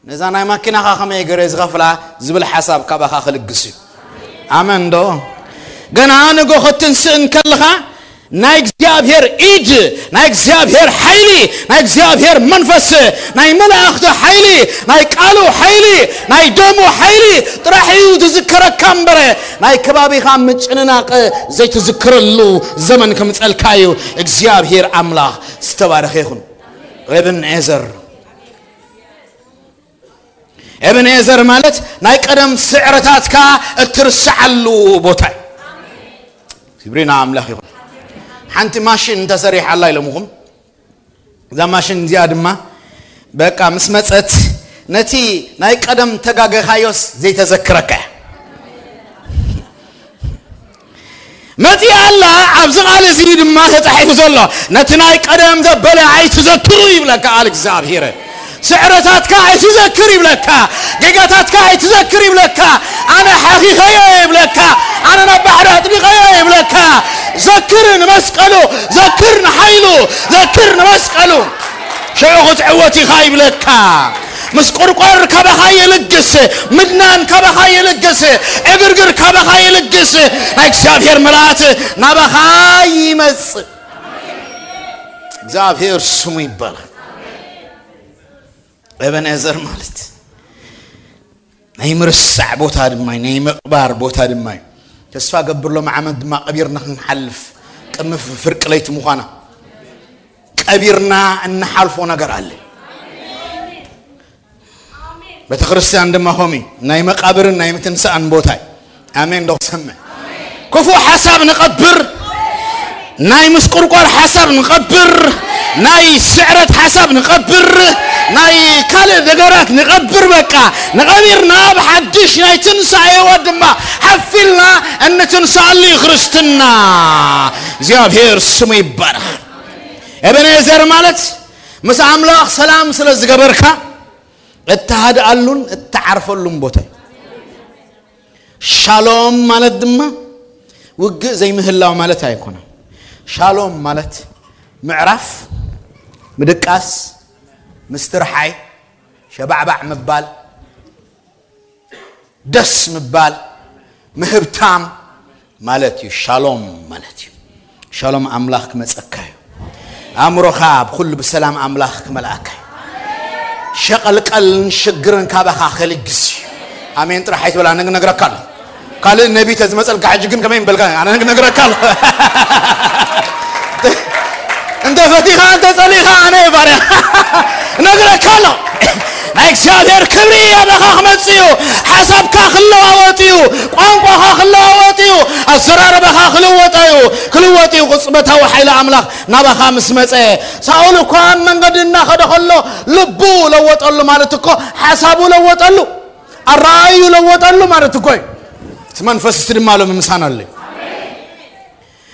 ነዛ ናይ ማኪናኻ ከመይ ገይረ ዝኸፍላ?" ዝብል ሓሳብ ካባኻ ክልግስ እዩ። ኣመን ዶ? ገና ንጎ ክትንስእ እንከለኻ፣ ናይ እግዚኣብሔር ኢድ፣ ናይ እግዚኣብሔር ሓይሊ፣ ናይ እግዚኣብሔር መንፈስ፣ ናይ መላእኽቲ ሓይሊ፣ ናይ ቃሉ ሓይሊ፣ ናይ ደሙ ሓይሊ ጥራሕ እዩ ዝዝከረካ እምበረ፣ ናይ ከባቢኻ ምጭንናቕ ዘይትዝክረሉ ዘመን ክምጸልካ እዩ። እግዚኣብሔር ኣምላኽ ዝተባረኸ ይኹን። ኤብን ኤዘር። ኤብን ኤዘር ማለት ናይ ቀደም ስዕረታትካ እትርስዓሉ ቦታ እዩ። ክብሪ ንኣምላኽ ይኹን። ሓንቲ ማሽን ተሰሪሓ ኣላ ኢሎምኹም። እዛ ማሽን እዚኣ ድማ በቃ ምስ መጸት ነቲ ናይ ቀደም ተጋገኻዮስ ዘይተዘክረካ እያ። መጺኣ ኣላ። ኣብዚ ቃል እዚ ድማ ተጻሒፉ ዘሎ፣ "ነቲ ናይ ቀደም ዘበለ ኣይትዘክሩ" ይብለካ ቃል እግዚኣብሔር። ስዕረታትካ ኣይትዘክር ይብለካ፣ ጌጋታትካ ኣይትዘክር ይብለካ፣ ኣነ ሓኺኸዮ ይብለካ፣ ኣነ ናብ ባሕሪ ኣጥሊቐዮ ይብለካ። ዘክር ንመስቀሉ፣ ዘክር ንሓይሉ፣ ዘክር ንመስቀሉ። ሽዑ ክትዕወት ኢኻ ይብለካ። ምስ ቁርቋር ካባኻ ይልግስ፣ ምድናን ካባኻ ይልግስ፣ ዕግርግር ካባኻ ይልግስ። ናይ እግዚኣብሔር ምልኣት ናባኻ ይመጽእ። እግዚኣብሔር ስሙ ይባረክ። ኤበንኤዘር ማለት ናይ ምርሳዕ ቦታ ድማ እዩ፣ ናይ ምቕባር ቦታ ድማ እዩ። ተስፋ ገብር ሎም ዓመት ድማ ቀቢርና ክንሓልፍ ቅድሚ ፍርቂ ለይቲ ምዃና ቀቢርና እንሓልፎ ነገር ኣለ። ቤተክርስትያን ድማ ኾሚ ናይ መቃብርን ናይ ምትንሳእን ቦታ እዩ። ኣሜን ዶ ክሰምዕ? ክፉእ ሓሳብ ንቐብር፣ ናይ ምስቁርቋር ሓሳብ ንቐብር፣ ናይ ስዕረት ሓሳብ ንቐብር፣ ናይ ካልእ ነገራት ንቐብር። በቃ ንቐቢርና ብሓድሽ ናይ ትንሳኤ ህይወት ድማ ሓፊልና እንትንሳኣሉ እዩ ክርስትና። እግዚኣብሔር ስሙ ይባረኽ። ኤበኔዘር ማለት ምስ ኣምላኽ ሰላም ስለ ዝገበርካ እትሃድኣሉን እትዓርፈሉን ቦታ እዩ። ሻሎም ማለት ድማ ውግእ ዘይምህላው ማለት ኣይኮነን። ሻሎም ማለት ምዕራፍ፣ ምድቃስ፣ ምስትርሓይ፣ ሸባዕባዕ ምባል፣ ደስ ምባል፣ ምህብታም ማለት እዩ። ሻሎም ማለት እዩ። ሻሎም ኣምላኽ ክመጸካ እዩ። ኣእምሮኻ ብኩሉ ብሰላም ኣምላኽ ክመልኣካ እዩ። ሸቐልቀልን ሽግርን ካባኻ ከልግስ እዩ። ኣሜን ጥራሕ ኣይትበል፣ ኣነ ግን ነግረካ ኣለኹ። ካልእ ነቢ ተዝመጸልካ ሕጂ ግን ከመይ ምበልካ? ኣነ ግን ነግረካ ኣለኹ። እንተ ፈቲኻ እንተ ጸሊኻ ኣነ እየ ባርያ። ነግረካ ኣለኹ። ናይ እግዚኣብሔር ክብሪ ኣባኻ ክመጽእ እዩ። ሓሳብካ ክለዋወጥ እዩ። ቋንቋኻ ክለዋወጥ እዩ። ኣዘራርባኻ ክልወጥ እዩ። ክልወጥ እዩ። ቅጽበታዊ ሓይሊ ኣምላኽ ናባኻ ምስ መጸ። ሳኦል እኳ ኣብ መንገዲ እናኸደ ከሎ ልቡ ለወጠሉ ማለት እኮ ሓሳቡ ለወጠሉ፣ ኣረኣዩ ለወጠሉ ማለት እኮ እዩ። እቲ መንፈስ እቲ ድማ ሎሚ ምሳና ኣሎ።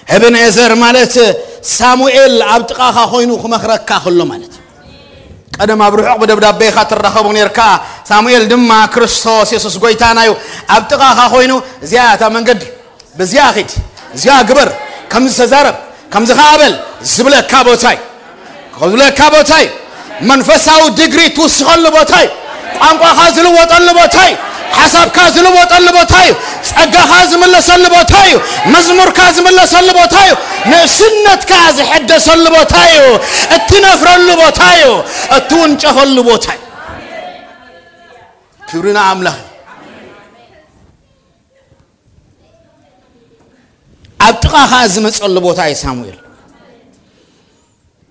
ኤበንኤዘር ማለት ሳሙኤል ኣብ ጥቓኻ ኮይኑ ክመኽረካ ከሎ ማለት እዩ። ቀደም ኣብ ርሑቕ ብደብዳቤ ኢኻ ትራኸቡ ነርካ። ሳሙኤል ድማ ክርስቶስ የሱስ ጎይታና እዩ። ኣብ ጥቓኻ ኮይኑ እዚኣ እታ መንገዲ፣ በዚኣ ኺድ፣ እዚኣ ግበር፣ ከምዚ ተዛረብ፣ ከምዚ ኸኣ በል ዝብለካ ቦታ እዩ። ዝብለካ ቦታ እዩ። መንፈሳዊ ዲግሪ ትውስኸሉ ቦታ እዩ። ቋንቋኻ ዝልወጠሉ ቦታ እዩ። ሓሳብካ ዝልወጠሉ ቦታ እዩ። ጸጋኻ ዝምለሰሉ ቦታ እዩ። መዝሙርካ ዝምለሰሉ ቦታ እዩ። ንእስነትካ ዝሕደሰሉ ቦታ እዩ። እትነፍረሉ ቦታ እዩ። እትውንጨፈሉ ቦታ እዩ። ክብሪ ንኣምላኽ እዩ። ኣብ ጥቓኻ ዝመጸሉ ቦታ እዩ ሳሙኤል።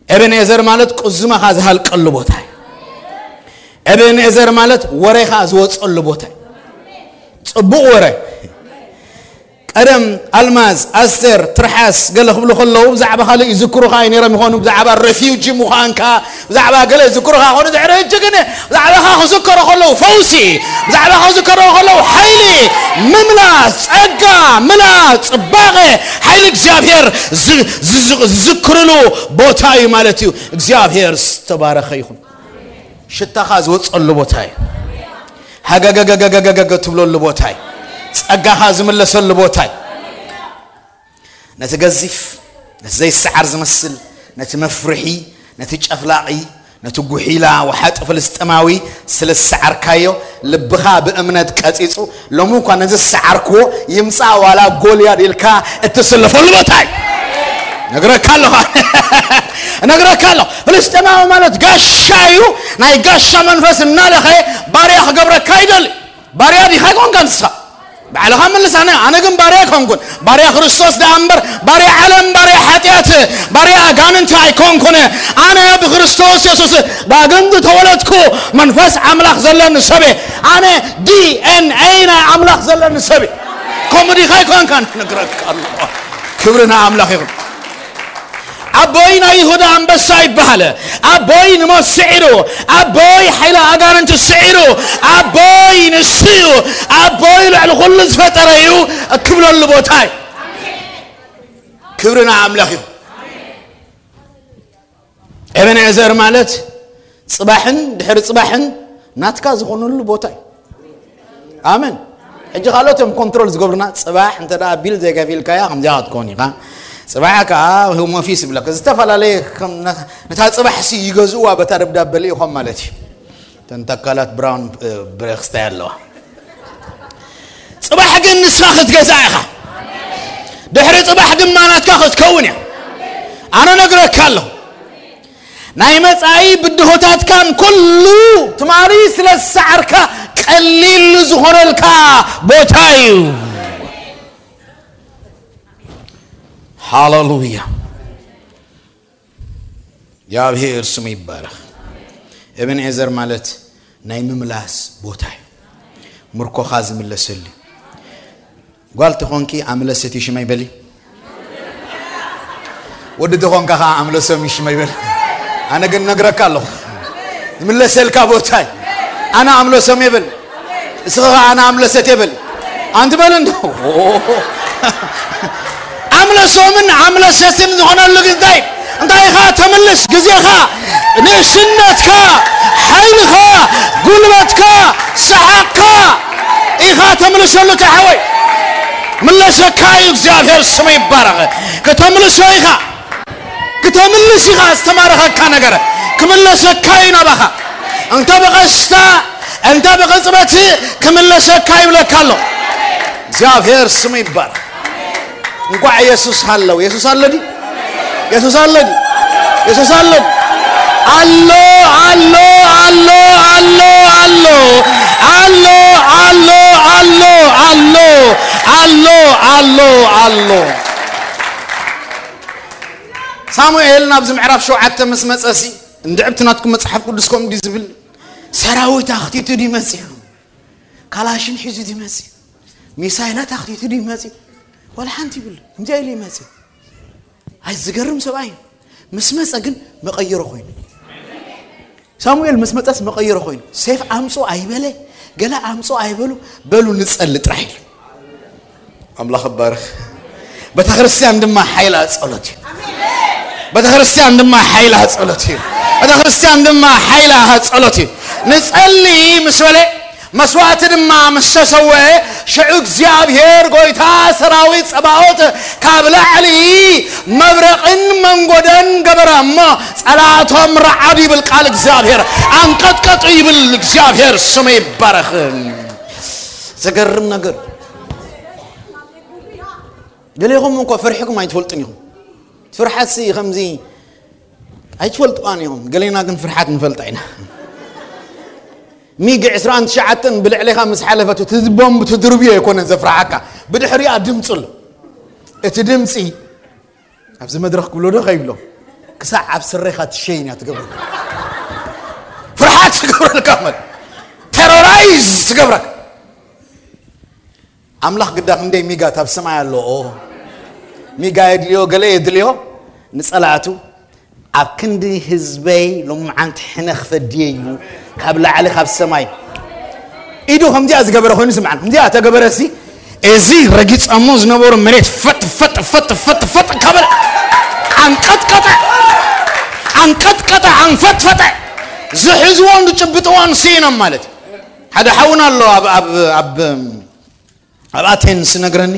ኤቤንኤዘር ማለት ቁዝማኻ ዝሃልቀሉ ቦታ እዩ። ኤቤንኤዘር ማለት ወሬኻ ዝወጸሉ ቦታ እዩ። ጽቡቕ ወረ። ቀደም ኣልማዝ፣ ኣስቴር፣ ትርሓስ ገለ ክብሉ ከለዉ ብዛዕባ ካልእ ይዝክሩኻ እዩ ነይሮም ይኾኑ። ብዛዕባ ሬፊውጂ ምዃንካ፣ ብዛዕባ ገለ ይዝክሩኻ ይኾኑ። ድሕሪ ሕጂ ግን ብዛዕባኻ ክዝከሩ ከለዉ ፈውሲ፣ ብዛዕባኻ ክዝከሩ ከለዉ ሓይሊ፣ ምምላስ፣ ጸጋ፣ ምላ፣ ጽባቐ፣ ሓይሊ እግዚኣብሔር ዝ-፣ ዝ-፣ ዝዝክርሉ ቦታ እዩ ማለት እዩ። እግዚኣብሔር ዝተባረኸ ይኹን። ሽታኻ ዝወጸሉ ቦታ እዩ። ሃገገገገገገ ትብለሉ ቦታ እዩ። ጸጋኻ ዝምለሰሉ ቦታ እዩ። ነቲ ገዚፍ፣ ነቲ ዘይሰዓር ዝመስል፣ ነቲ መፍርሒ፣ ነቲ ጨፍላቒ፣ ነቲ ጉሒላ ወሓጢ ፍልስጤማዊ ስለ ዝሰዓርካዮ፣ ልብኻ ብእምነት ቀጺጹ፣ ሎሚ እኳ ነዚ ዝሰዓርክዎ ይምጻእ ዋላ ጎልያድ ኢልካ እትስለፈሉ ቦታ እዩ። ነግረካ ኣለኹ። ነግረካ ኣለኹ። ፍልስጤማዊ ማለት ጋሻ እዩ። ናይ ጋሻ መንፈስ እናለኸ ባርያ ክገብረካ ይደሊ። ባርያ ዲኻ ኣይኮንካ ንስኻ? ባዕልኻ መልስ። ኣነ፣ ኣነ ግን ባርያ ኣይኮንኩን። ባርያ ክርስቶስ ደኣ እምበር፣ ባርያ ዓለም፣ ባርያ ሓጢኣት፣ ባርያ ኣጋንንቲ ኣይኮንኩን። ኣነ ብክርስቶስ የሱስ ዳግም ዝተወለድኩ መንፈስ ኣምላኽ ዘለኒ ሰብ እየ። ኣነ ዲ ኤን ኤ ናይ ኣምላኽ ዘለኒ ሰብ እየ። ከምኡ ዲኻ ኣይኮንካን? ነግረካ ኣለኹ። ክብሪ ንኣምላኽ ይኹን። ኣቦይ ናይ ይሁዳ ኣንበሳ ይበሃል። ኣቦይ ንሞት ስዒሩ፣ ኣቦይ ሓይሊ ኣጋንንቲ ስዒሩ፣ ኣቦይ ንሱ እዩ፣ ኣቦይ ልዕሊ ኩሉ ዝፈጠረ እዩ እክብለሉ ቦታ እዩ። ክብሪ ንኣምላኽ እዩ። ኤበንኤዘር ማለት ጽባሕን ድሕሪ ጽባሕን ናትካ ዝኾነሉ ቦታ እዩ። ኣሜን። ሕጂ ካልኦት እዮም ኮንትሮል ዝገብሩና። ጽባሕ እንተ ደኣ ቢል ዘይከፊልካያ ከምዚኣ ክትከውን ኢኻ። ጽባሕ ከኣ ሆም ኦፊስ ይብለካ። ዝተፈላለየ ከም ነ-፣ ነታ ጽባሕሲ ይገዝእዋ በታ ደብዳበ ልኢኾም ማለት እዩ። እተን ተካላት ብራውን፣ እ፣ ብሬክስታይ ኣለዋ። ጽባሕ ግን ንስኻ ክትገዛ ኢኻ። ድሕሪ ጽባሕ ድማ ናትካ ክትከውን እያ። ኣነ ነግረካ ኣለኹ። ናይ መጻኢ ብድሆታትካን ኩሉ ትማሊ ስለ ዝሰዓርካ ቀሊል ዝኾነልካ ቦታ እዩ። ሃሌሉያ። እግዚኣብሔር ስሙ ይባረኽ። ኤቤንኤዘር ማለት ናይ ምምላስ ቦታ እዩ። ምርኮኻ ዝምለሰሉ። ጓል ተኾንኪ ኣምለሰት ሽመይ በሊ። ወዲ ተኾንካ ኸዓ ኣምለሶም ሽመይ በል። ኣነ ግን ነግረካ ኣለኹ። ዝምለሰልካ ቦታ እዩ። ኣነ ኣምለሶም ይብል። እስኻ ኸዓ ኣነ ኣምለሰት ይብል። ኣንቲ በል እንዶ። ኣምለሶምን ኣምለሰትን ዝኾነሉ ግን እንታይ? እንታይ ኢኻ ተምልስ? ግዜኻ፣ ንእስነትካ፣ ሓይልኻ፣ ጉልበትካ፣ ሰሓቕካ ኢኻ ተምልሰሉ ተሓወይ። ምለሰካ እዩ እግዚኣብሔር ስሙ ይባረኽ። ከተምልሶ ኢኻ። ክተምልስ ኢኻ ዝተማረኸካ ነገር። ክምለሰካ እዩ ናባኻ። እንተ ብቐስታ፣ እንተ ብቕጽበት ክምለሰካ ይብለካ ኣሎ። እግዚኣብሔር ስሙ ይባረኽ። እንኳዕ የሱስ ሃለው። የሱስ ኣሎ ድዩ? የሱስ ኣሎ ድዩ? የሱስ ኣሎ ድዩ? ኣሎ፣ ኣሎ፣ ኣሎ፣ ኣሎ፣ ኣሎ፣ ኣሎ፣ ኣሎ፣ ኣሎ፣ ኣሎ፣ ኣሎ፣ ኣሎ፣ ኣሎ። ሳሙኤል ናብዚ ምዕራፍ ሸውዓተ ምስ መጸሲ፣ እንድዕብቲ ናትኩም መጽሓፍ ቅዱስ ከምኡ ድዩ ዝብል? ሰራዊት ኣኽቲቱ ድዩ መጺኡ? ካላሽን ሒዙ ድዩ መጺኡ? ሚሳይላት ኣኽቲቱ ድዩ መጺኡ? ዋላ ሓንቲ ይብሉ። ከምዚኣ ኢሉ ይመጺኡ። ኣይ ዝገርም ሰብኣይ እዩ። ምስ መጸ ግን መቐየሮ ኮይኑ። ሳሙኤል ምስ መጸስ መቐየሮ ኮይኑ። ሴፍ ኣምጾ ኣይበለ፣ ገለ ኣምጾ ኣይበሉ፣ በሉ ንጸሊ ጥራሕ ኢሉ። ኣምላኽ ይባረኽ። ቤተክርስትያን ድማ ሓይላ ጸሎት እዩ። ቤተክርስትያን ድማ ሓይላ ጸሎት እዩ። ቤተክርስትያን ድማ ሓይላ ጸሎት እዩ። ንጸሊ ምስ በለ መስዋእቲ ድማ ምስ ተሰወአ፣ ሽዑ እግዚኣብሔር ጐይታ ሰራዊት ጸባኦት ካብ ላዕሊ መብረቕን መንጎደን ገበረ እሞ፣ ጸላእቶም ረዓዱ ይብል ቃል እግዚኣብሔር፣ ኣንቀጥቀጡ ይብል እግዚኣብሔር፣ ስሙ ይባረኽ። ዘገርም ነገር። ገሌኹም እኮ ፈሪሕኩም ኣይትፈልጡን ኢኹም። ፍርሓትሲ ከምዚ ኣይትፈልጥዋን ኢኹም። ገሌና ግን ፍርሓት ንፈልጣ ኢና። ሚግ ዕስራን ትሽዓተን ብልዕሌኻ ምስ ሓለፈት፣ እቲ ቦምብ ትድርብዮ ኣይኮነን ዘፍርሓካ፣ ብድሕሪኣ ድምፂ ኣሎ። እቲ ድምፂ ኣብዚ መድረኽ ክብሎ ዶ ከይብሎ፣ ክሳዕ ኣብ ስሬኻ ትሸይን እያ ትገብረካ። ፍርሓት ትገብረልካ ማለት፣ ቴሮራይዝ ትገብረካ። ኣምላኽ ግዳ ክንደይ ሚጋት ኣብ ሰማይ ኣሎ። ኦ፣ ሚጋ የድልዮ፣ ገለ የድልዮ ንጸላእቱ። ኣብ ክንዲ ህዝበይ ሎምዓንቲ ሕነ ክፈድየ እዩ ካብ ላዕሊ ካብ ሰማይ። ኢዱ ከምዚኣ ዝገበረ ኮይኑ ስምዓን፣ ከምዚኣ ተገበረ ሲ፣ እዚ ረጊጸሞ ዝነበሩ መሬት ፈጥ ፈጥ ፈጥ ፈጥ ፈጥ ከበለ፣ ኣንቀጥቀጠ፣ ኣንቀጥቀጠ፣ ኣንፈጥፈጠ። ዝሕዝዎን ዝጭብጥዎን ስኢኖም ማለት እዩ። ሓደ ሓውና ኣሎ ኣብ፣ ኣብ፣ ኣብ፣ ኣብ ኣቴንስ ነግረኒ፣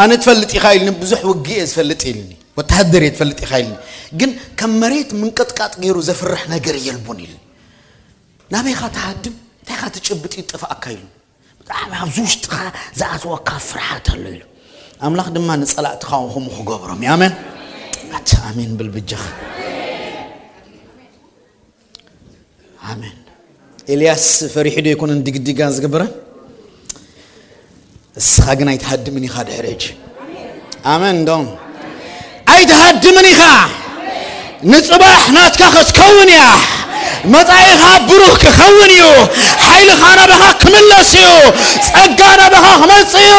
ኣነ ትፈልጥ ኢኻ ኢልኒ፣ ብዙሕ ውግእ እየ ዝፈልጥ ኢልኒ፣ ወተሃደር እየ ትፈልጥ ኢኻ ኢልኒ፣ ግን ከም መሬት ምንቅጥቃጥ ገይሩ ዘፍርሕ ነገር የልቦን ኢልኒ። ናበይኻ ትሃድም፣ እንታይኻ ትጭብጥ ይጠፍኣካ ኢሉ። ብጣዕሚ ኣብዚ ውሽጥኻ ዝኣትወካ ፍርሓት ኣሎ ኢሉ። ኣምላኽ ድማ ንጸላእትኻ ከምኡ ክገብሮም እዩ። ኣሜን። ኣታ ኣሜን ብል ብጃኻ። ኣሜን። ኤልያስ ፈሪሑ ዶ ኣይኮነን ድግድጋ ዝገበረ? እስኻ ግን ኣይትሃድምን ኢኻ ድሕሪ ሕጂ። ኣሜን ዶ? ኣይትሃድምን ኢኻ። ንጽባሕ ናትካ ክትከውን እያ። መጻኢኻ ብሩህ ክኸውን እዩ። ሓይልኻ ናባኻ ክምለስ እዩ። ጸጋ ናባኻ ክመጽእ እዩ።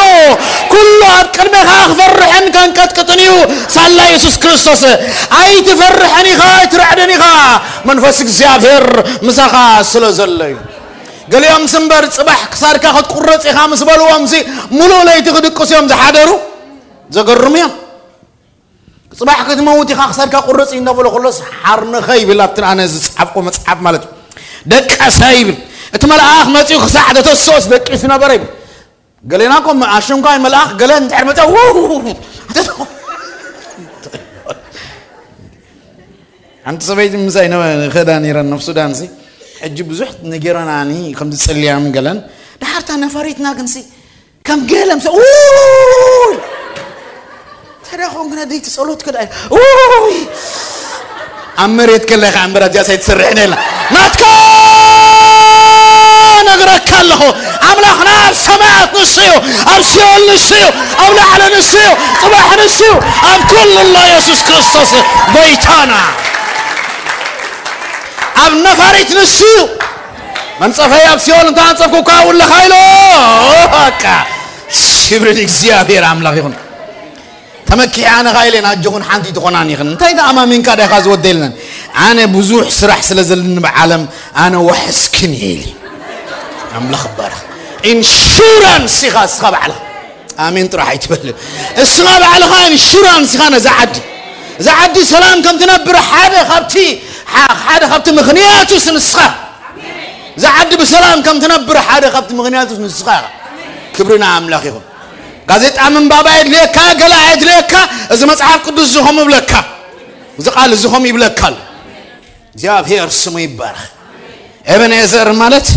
ኩሉ ኣብ ቅድሜኻ ክፈርሕን ከንቀጥቅጥን እዩ። ሳላ የሱስ ክርስቶስ። ኣይትፈርሕን ኢኻ፣ ኣይትርዕድን ኢኻ። መንፈስ እግዚኣብሔር ምሳኻ ስለ ዘሎ እዩ። ገሊኦምስ እምበር ጽባሕ ክሳድካ ክትቁረጽ ኢኻ ምስ በልዎምሲ፣ ሙሉእ ለይቲ ክድቅሱ እዮም ዝሓደሩ። ዘገርሙ እዮም። ጽባሕ ክትመውት ኢኻ ክሳድካ ቁረጽ እዩ እንዳበሎ ከሎስ፣ ሓርንኸ ይብል ኣብቲ ኣነ ዝጸሓፍኮ መጽሓፍ ማለት እዩ። ደቀሰ ይብል። እቲ መልኣኽ መጺኡ ክሳዕ ዘተስኦስ ደቂሱ ነበረ ይብል። ገሌና እኮ ኣሽንኳይ መልኣኽ ገለ እንድሕር መጸ፣ ው! ሓንቲ ሰበይቲ ምሳይ ነ-፣ ኸዳ ነይረን፣ ናብ ሱዳን ሲ። ሕጂ ብዙሕ ነጌረናኒ ከምዚ ጸልያም ገለን። ድሓርታ ነፋሪትና ግንሲ ከም ገለም ሰ ውይ ተደኾን ግን ኣደይቲ ጸሎት ክዳ ውይ ኣብ መሬት ከለኻ እምበራ እዚኣ ሳይትሰርሕን የላ ናትካ ነግረካ ኣለኹ። ኣምላኽና ኣብ ሰማያት ንሱ እዩ፣ ኣብ ሲኦል ንሱ እዩ፣ ኣብ ላዕሊ ንሱ እዩ፣ ጽባሕ ንሱ እዩ። ኣብ ኩሉ ኣሎ የሱስ ክርስቶስ ጎይታና። ኣብ ነፋሪት ንሱ እዩ። መንጸፈይ ኣብ ሲኦል እንተ ኣንጸፍኩካ ውለኻ ኢሎ። በቃ ክብሪ ንእግዚኣብሔር ኣምላኽ ይኹን። ተመኪሐ ኣነ ኻይለ ናጆኹን ሓንቲ ትኾናን ይኽን እንታይ ተኣማሚንካ ዳይኻ ዝወደልነን። ኣነ ብዙሕ ስራሕ ስለ ዘለኒ ብዓለም ኣነ ወሕስክን እየ ኢሊ። ኣምላኽ ይባረኽ። ኢንሹራንስ ኢኻ እስኻ ባዕልኻ። ኣሜን ጥራሕ ኣይትበል። እስኻ ባዕልኻ ኢንሹራንስ ኢኻ ነዛ ዓዲ። እዛ ዓዲ ሰላም ከም ትነብር ሓደ ካብቲ ሓደ ካብቲ ምኽንያቱ ንስኻ። እዛ ዓዲ ብሰላም ከም ትነብር ሓደ ካብቲ ምኽንያቱ ንስኻ ኢኻ። ክብሪ ንኣምላኽ ይኹን። ጋዜጣ ምንባብ ኣየድልየካ፣ ገለ ኣየድልየካ። እዚ መጽሓፍ ቅዱስ እዚ ኸም ይብለካ፣ እዚ ቃል እዚ ኸም ይብለካ ኣሎ። እግዚኣብሔር ስሙ ይባረኽ። ኤበንኤዘር ማለት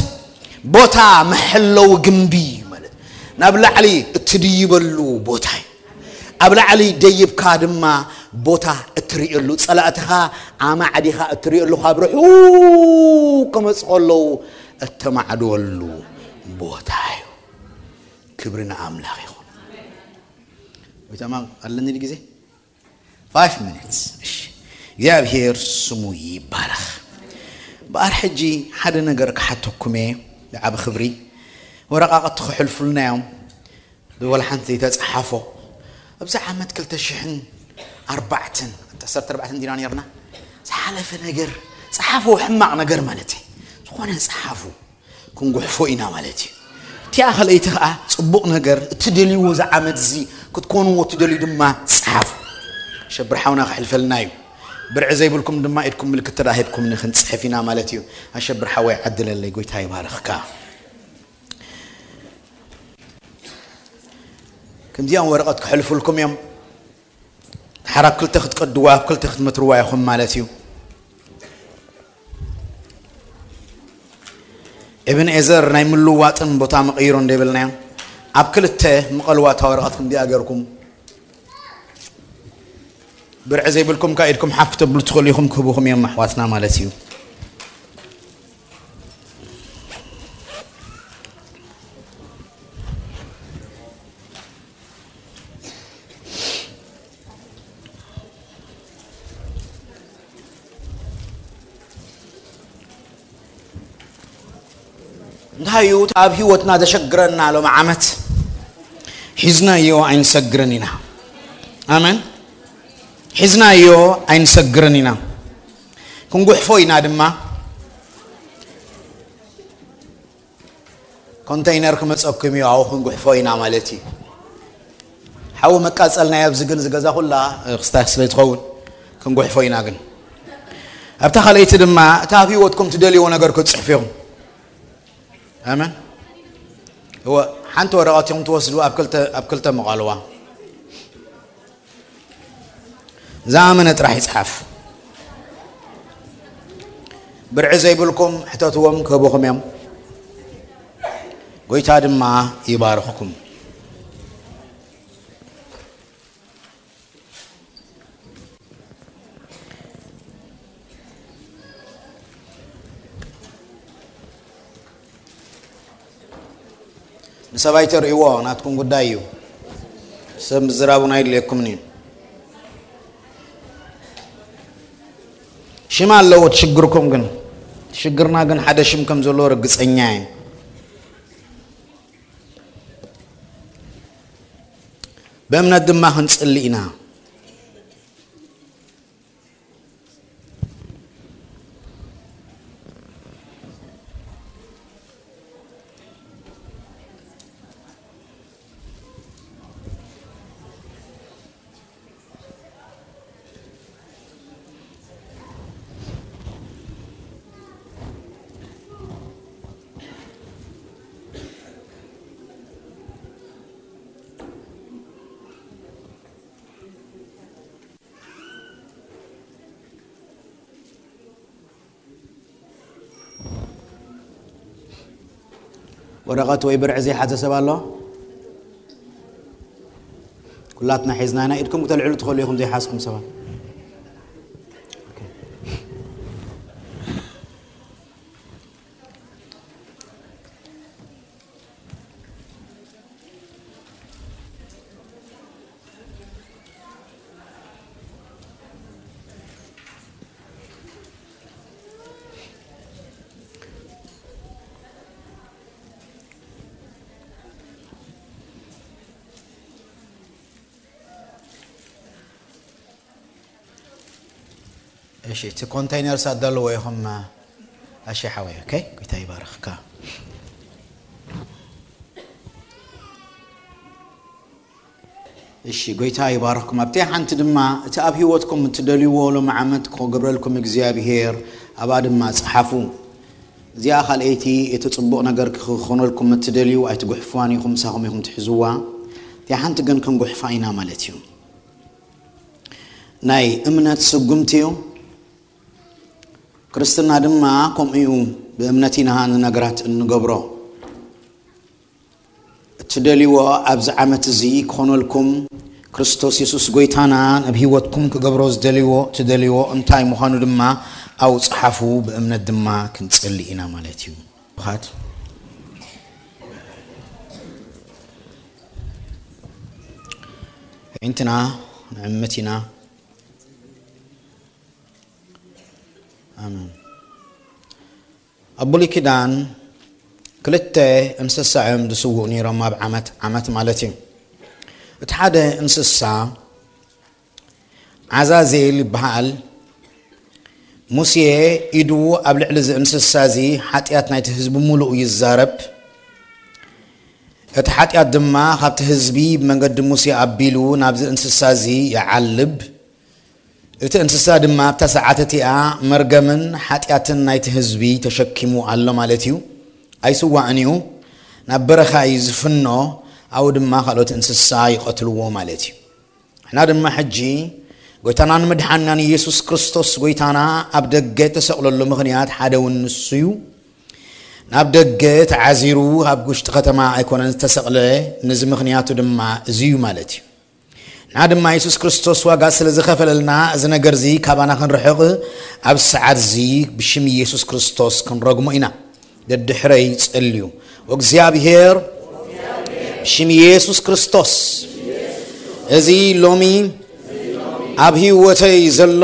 ቦታ መሐለዊ ግንቢ ማለት ናብ ላዕሊ እትድይበሉ ቦታ እዩ። ኣብ ላዕሊ ደይብካ ድማ ቦታ እትርእየሉ፣ ጸላእትኻ ኣማዕዲኻ እትርእየሉ፣ ካብ ርሑቕ ክመጹ ከለዉ እተማዕድወሉ ቦታ እዩ። ክብሪ ንኣምላኽ ይኹን። ወይታማ ኣለኒ ግዜ ፋይቭ ሚኒትስ። እሺ፣ እግዚኣብሔር ስሙ ይባረኽ። በኣር ሕጂ ሓደ ነገር ክሓተኩም እየ። ብዓቢ ክብሪ ወረቓቕቲ ክሕልፉልና እዮም። ብወላ ሓንቲ ዘይተጸሓፎ ኣብዚ ዓመት ክልተ ሽሕን ኣርባዕተን፣ ዓሰርተ ኣርባዕተ ዲና ነርና። ዝሓለፈ ነገር ጸሓፎ፣ ሕማቕ ነገር ማለት እዩ። ዝኾነ ጸሓፉ፣ ክንጉሕፎ ኢና ማለት እዩ። እቲኣ ካልኣይቲ ኸኣ ጽቡቕ ነገር፣ እትደልይዎ እዚ ዓመት እዚ ክትኮንዎ እትደልዩ ድማ ጸሓፉ። ሸብር ሓውና ክሕልፈልና እዩ። ብርዒ ዘይብልኩም ድማ ኢድኩም ምልክት ተዳሂብኩም ንኽንጽሕፍ ኢና ማለት እዩ። ኣሸብር ሓወይ ዓድለለይ፣ ጎይታ ይባርኽካ። ከምዚኦም ወረቐት ክሕልፉልኩም እዮም። ሓራ ክልተ ክትቀድዋ፣ ኣብ ክልተ ክትመትርዋ ኢኹም ማለት እዩ። እብን ኤዘር ናይ ምልዋጥን ቦታ መቐይሮ እንደብልናዮ፣ ኣብ ክልተ ምቐልዋ እታ ወረቐት ክንዲኣ ገርኩም። ብርዒ ዘይብልኩም ከኣ ኢድኩም ሓፍ ክተብሉ ትኽእሉ ኢኹም፣ ክህቡኹም እዮም ኣሕዋትና ማለት እዩ። እንታይ እዩ ኣብ ህይወትና ዘሸግረና ሎም ዓመት? ሒዝናዮ ኣይንሰግርን ኢና። ኣመን። ሒዝናዮ ኣይንሰግርን ኢና። ክንጉሕፎ ኢና ድማ። ኮንተይነር ክመጸኩም እዩ፣ ኣብኡ ክንጉሕፎ ኢና ማለት እዩ። ሓዊ መቃጸልናዮ ኣብዚ ግን፣ እዚ ገዛ ኩላ ክስታይ ስለ ትኸውን ክንጉሕፎ ኢና። ግን ኣብታ ካልኣይቲ ድማ እታ ኣብ ህይወትኩም ትደልይዎ ነገር ክትጽሕፉ ኢኹም። ኣመን። እወ፣ ሓንቲ ወረቐት ኢኹም ትወስዱ፣ ኣብ ክልተ፣ ኣብ ክልተ መቓልዋ። ዝኣመነ ጥራሕ ይጽሓፍ። ብርዒ ዘይብልኩም ሕተትዎም፣ ክህቡኹም እዮም። ጎይታ ድማ ይባርኽኩም። ንሰብ ኣይተርእይዎ፣ ናትኩም ጉዳይ እዩ። ሰብ ምዝራብ እውን ኣይድልየኩምን እዩ። ሽም ኣለዎ እቲ ሽግርኩም፣ ግን ሽግርና ግን ሓደ ሽም ከም ዘለዎ ርግጸኛ እየ። ብእምነት ድማ ክንጽሊ ኢና። ወረቐት ወይ ብርዒ ዘይሓዘ ሰብ ኣሎ? ኩላትና ሒዝና ኢና። ኢድኩም ክተልዕሉ ትኽእሉ ኢኹም ዘይሓዝኩም ሰባት። እሺ፣ እቲ ኮንቴይነር ሳት ዘለዎ ኢኹም። እሺ ሓወይ፣ ኦኬ፣ ጎይታ ይባርኽካ። እሺ፣ ጎይታ ይባርኽኩም። ኣብቲ ሓንቲ ድማ እቲ ኣብ ህይወትኩም እትደልይዎ ሎም ዓመት ክገብረልኩም እግዚኣብሄር ኣብኣ ድማ ጸሓፉ። እዚኣ ካልኣይቲ እቲ ጽቡቕ ነገር ክኾነልኩም እትደልዩ ኣይትጉሕፍዋን ኢኹም፣ ምሳኹም ኢኹም ትሕዝዋ። እቲኣ ሓንቲ ግን ክንጉሕፋ ኢና ማለት እዩ። ናይ እምነት ስጉምቲ እዩ። ክርስትና ድማ ከምኡ እዩ። ብእምነት ኢና ንነገራት እንገብሮ። እትደልይዎ ኣብዚ ዓመት እዚ ክኾነልኩም፣ ክርስቶስ የሱስ ጎይታና ናብ ህይወትኩም ክገብሮ ዝደልይዎ፣ ትደልይዎ እንታይ ምዃኑ ድማ ኣብኡ ጸሓፉ፣ ብእምነት ድማ ክንጽሊ ኢና ማለት እዩ። ብኻት ኣዒንትና ንዕምት ኢና። ኣሜን። ኣብ ብሉይ ኪዳን ክልተ እንስሳ እዮም ዝስውኡ ነይሮም ኣብ ዓመት፣ ዓመት ማለት እዩ። እቲ ሓደ እንስሳ ዓዛዜል ይበሃል። ሙሴ ኢዱ ኣብ ልዕሊ እዚ እንስሳ እዚ ሓጢኣት ናይቲ ህዝቢ ምሉእ ይዛረብ። እቲ ሓጢኣት ድማ ካብቲ ህዝቢ ብመንገዲ ሙሴ ኣቢሉ ናብዚ እንስሳ እዚ ይዓልብ። እቲ እንስሳ ድማ ኣብታ ሰዓት እቲኣ መርገምን ሓጢኣትን ናይቲ ህዝቢ ተሸኪሙ ኣሎ ማለት እዩ። ኣይስዋእን እዩ። ናብ በረኻ እዩ ዝፍኖ። ኣብኡ ድማ ካልኦት እንስሳ ይቐትልዎ ማለት እዩ። ንሕና ድማ ሕጂ ጎይታናን መድሓንናን ኢየሱስ ክርስቶስ ጎይታና ኣብ ደገ ተሰቕለሉ ምኽንያት ሓደ እውን ንሱ እዩ። ናብ ደገ ተዓዚሩ ኣብ ውሽጢ ከተማ ኣይኮነን ዝተሰቕለ። ነዚ ምኽንያቱ ድማ እዚ እዩ ማለት እዩ። ንሕና ድማ የሱስ ክርስቶስ ዋጋ ስለ ዝኸፈለልና፣ እዚ ነገር እዚ ካባና ክንርሕቕ፣ ኣብ ሰዓት እዚ ብሽም የሱስ ክርስቶስ ክንረግሞ ኢና። ደድሕረይ ጸልዩ። እግዚኣብሔር፣ ብሽም የሱስ ክርስቶስ፣ እዚ ሎሚ ኣብ ህይወተይ ዘሎ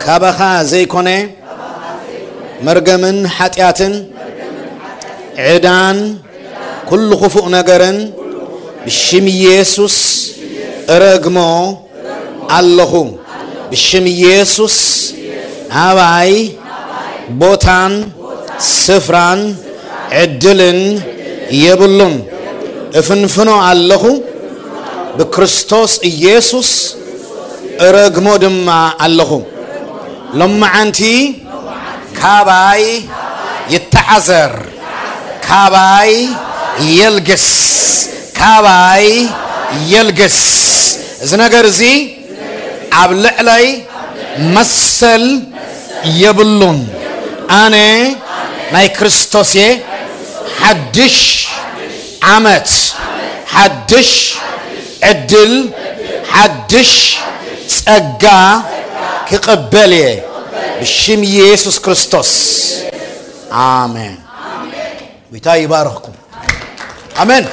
ካባኻ ዘይኮነ መርገምን ሓጢኣትን ዕዳን ኩሉ ክፉእ ነገርን ብሽም ኢየሱስ እረግሞ ኣለኹ። ብሽም ኢየሱስ ኣባይ ቦታን ስፍራን ዕድልን የብሉን። እፍንፍኖ ኣለኹ። ብክርስቶስ ኢየሱስ እረግሞ ድማ ኣለኹ። ሎማዓንቲ ካባይ ይተዓዘር፣ ካባይ የልግስ፣ ካባይ የልግስ። እዚ ነገር እዚ ኣብ ልዕለይ መሰል የብሉን። ኣነ ናይ ክርስቶስ እየ። ሓድሽ ዓመት፣ ሓድሽ ዕድል፣ ሓድሽ ጸጋ ክቕበል እየ ብሽም ኢየሱስ ክርስቶስ። ኣሜን። ጎይታ ይባርኽኩም። ኣሜን።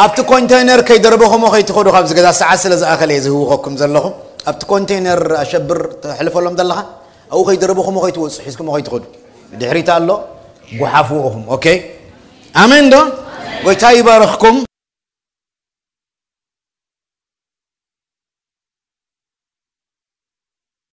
ኣብቲ ኮንቴይነር ከይደረበኹሞ ከይትኸዱ፣ ካብዚ ገዛ ሰዓት ስለ ዝኣኸለ እየ ዝህውኸኩም ዘለኹ። ኣብቲ ኮንቴይነር ኣሸብር ተሕልፈሎም ዘለኻ፣ ኣብኡ ከይደረበኹሞ ከይትወፁ፣ ሒዝኩሞ ከይትኸዱ። ድሕሪት ኣሎ፣ ጓሓፍዎ ኢኹም። ኦኬ፣ ኣሜን ዶ? ጎይታ ይባርኽኩም።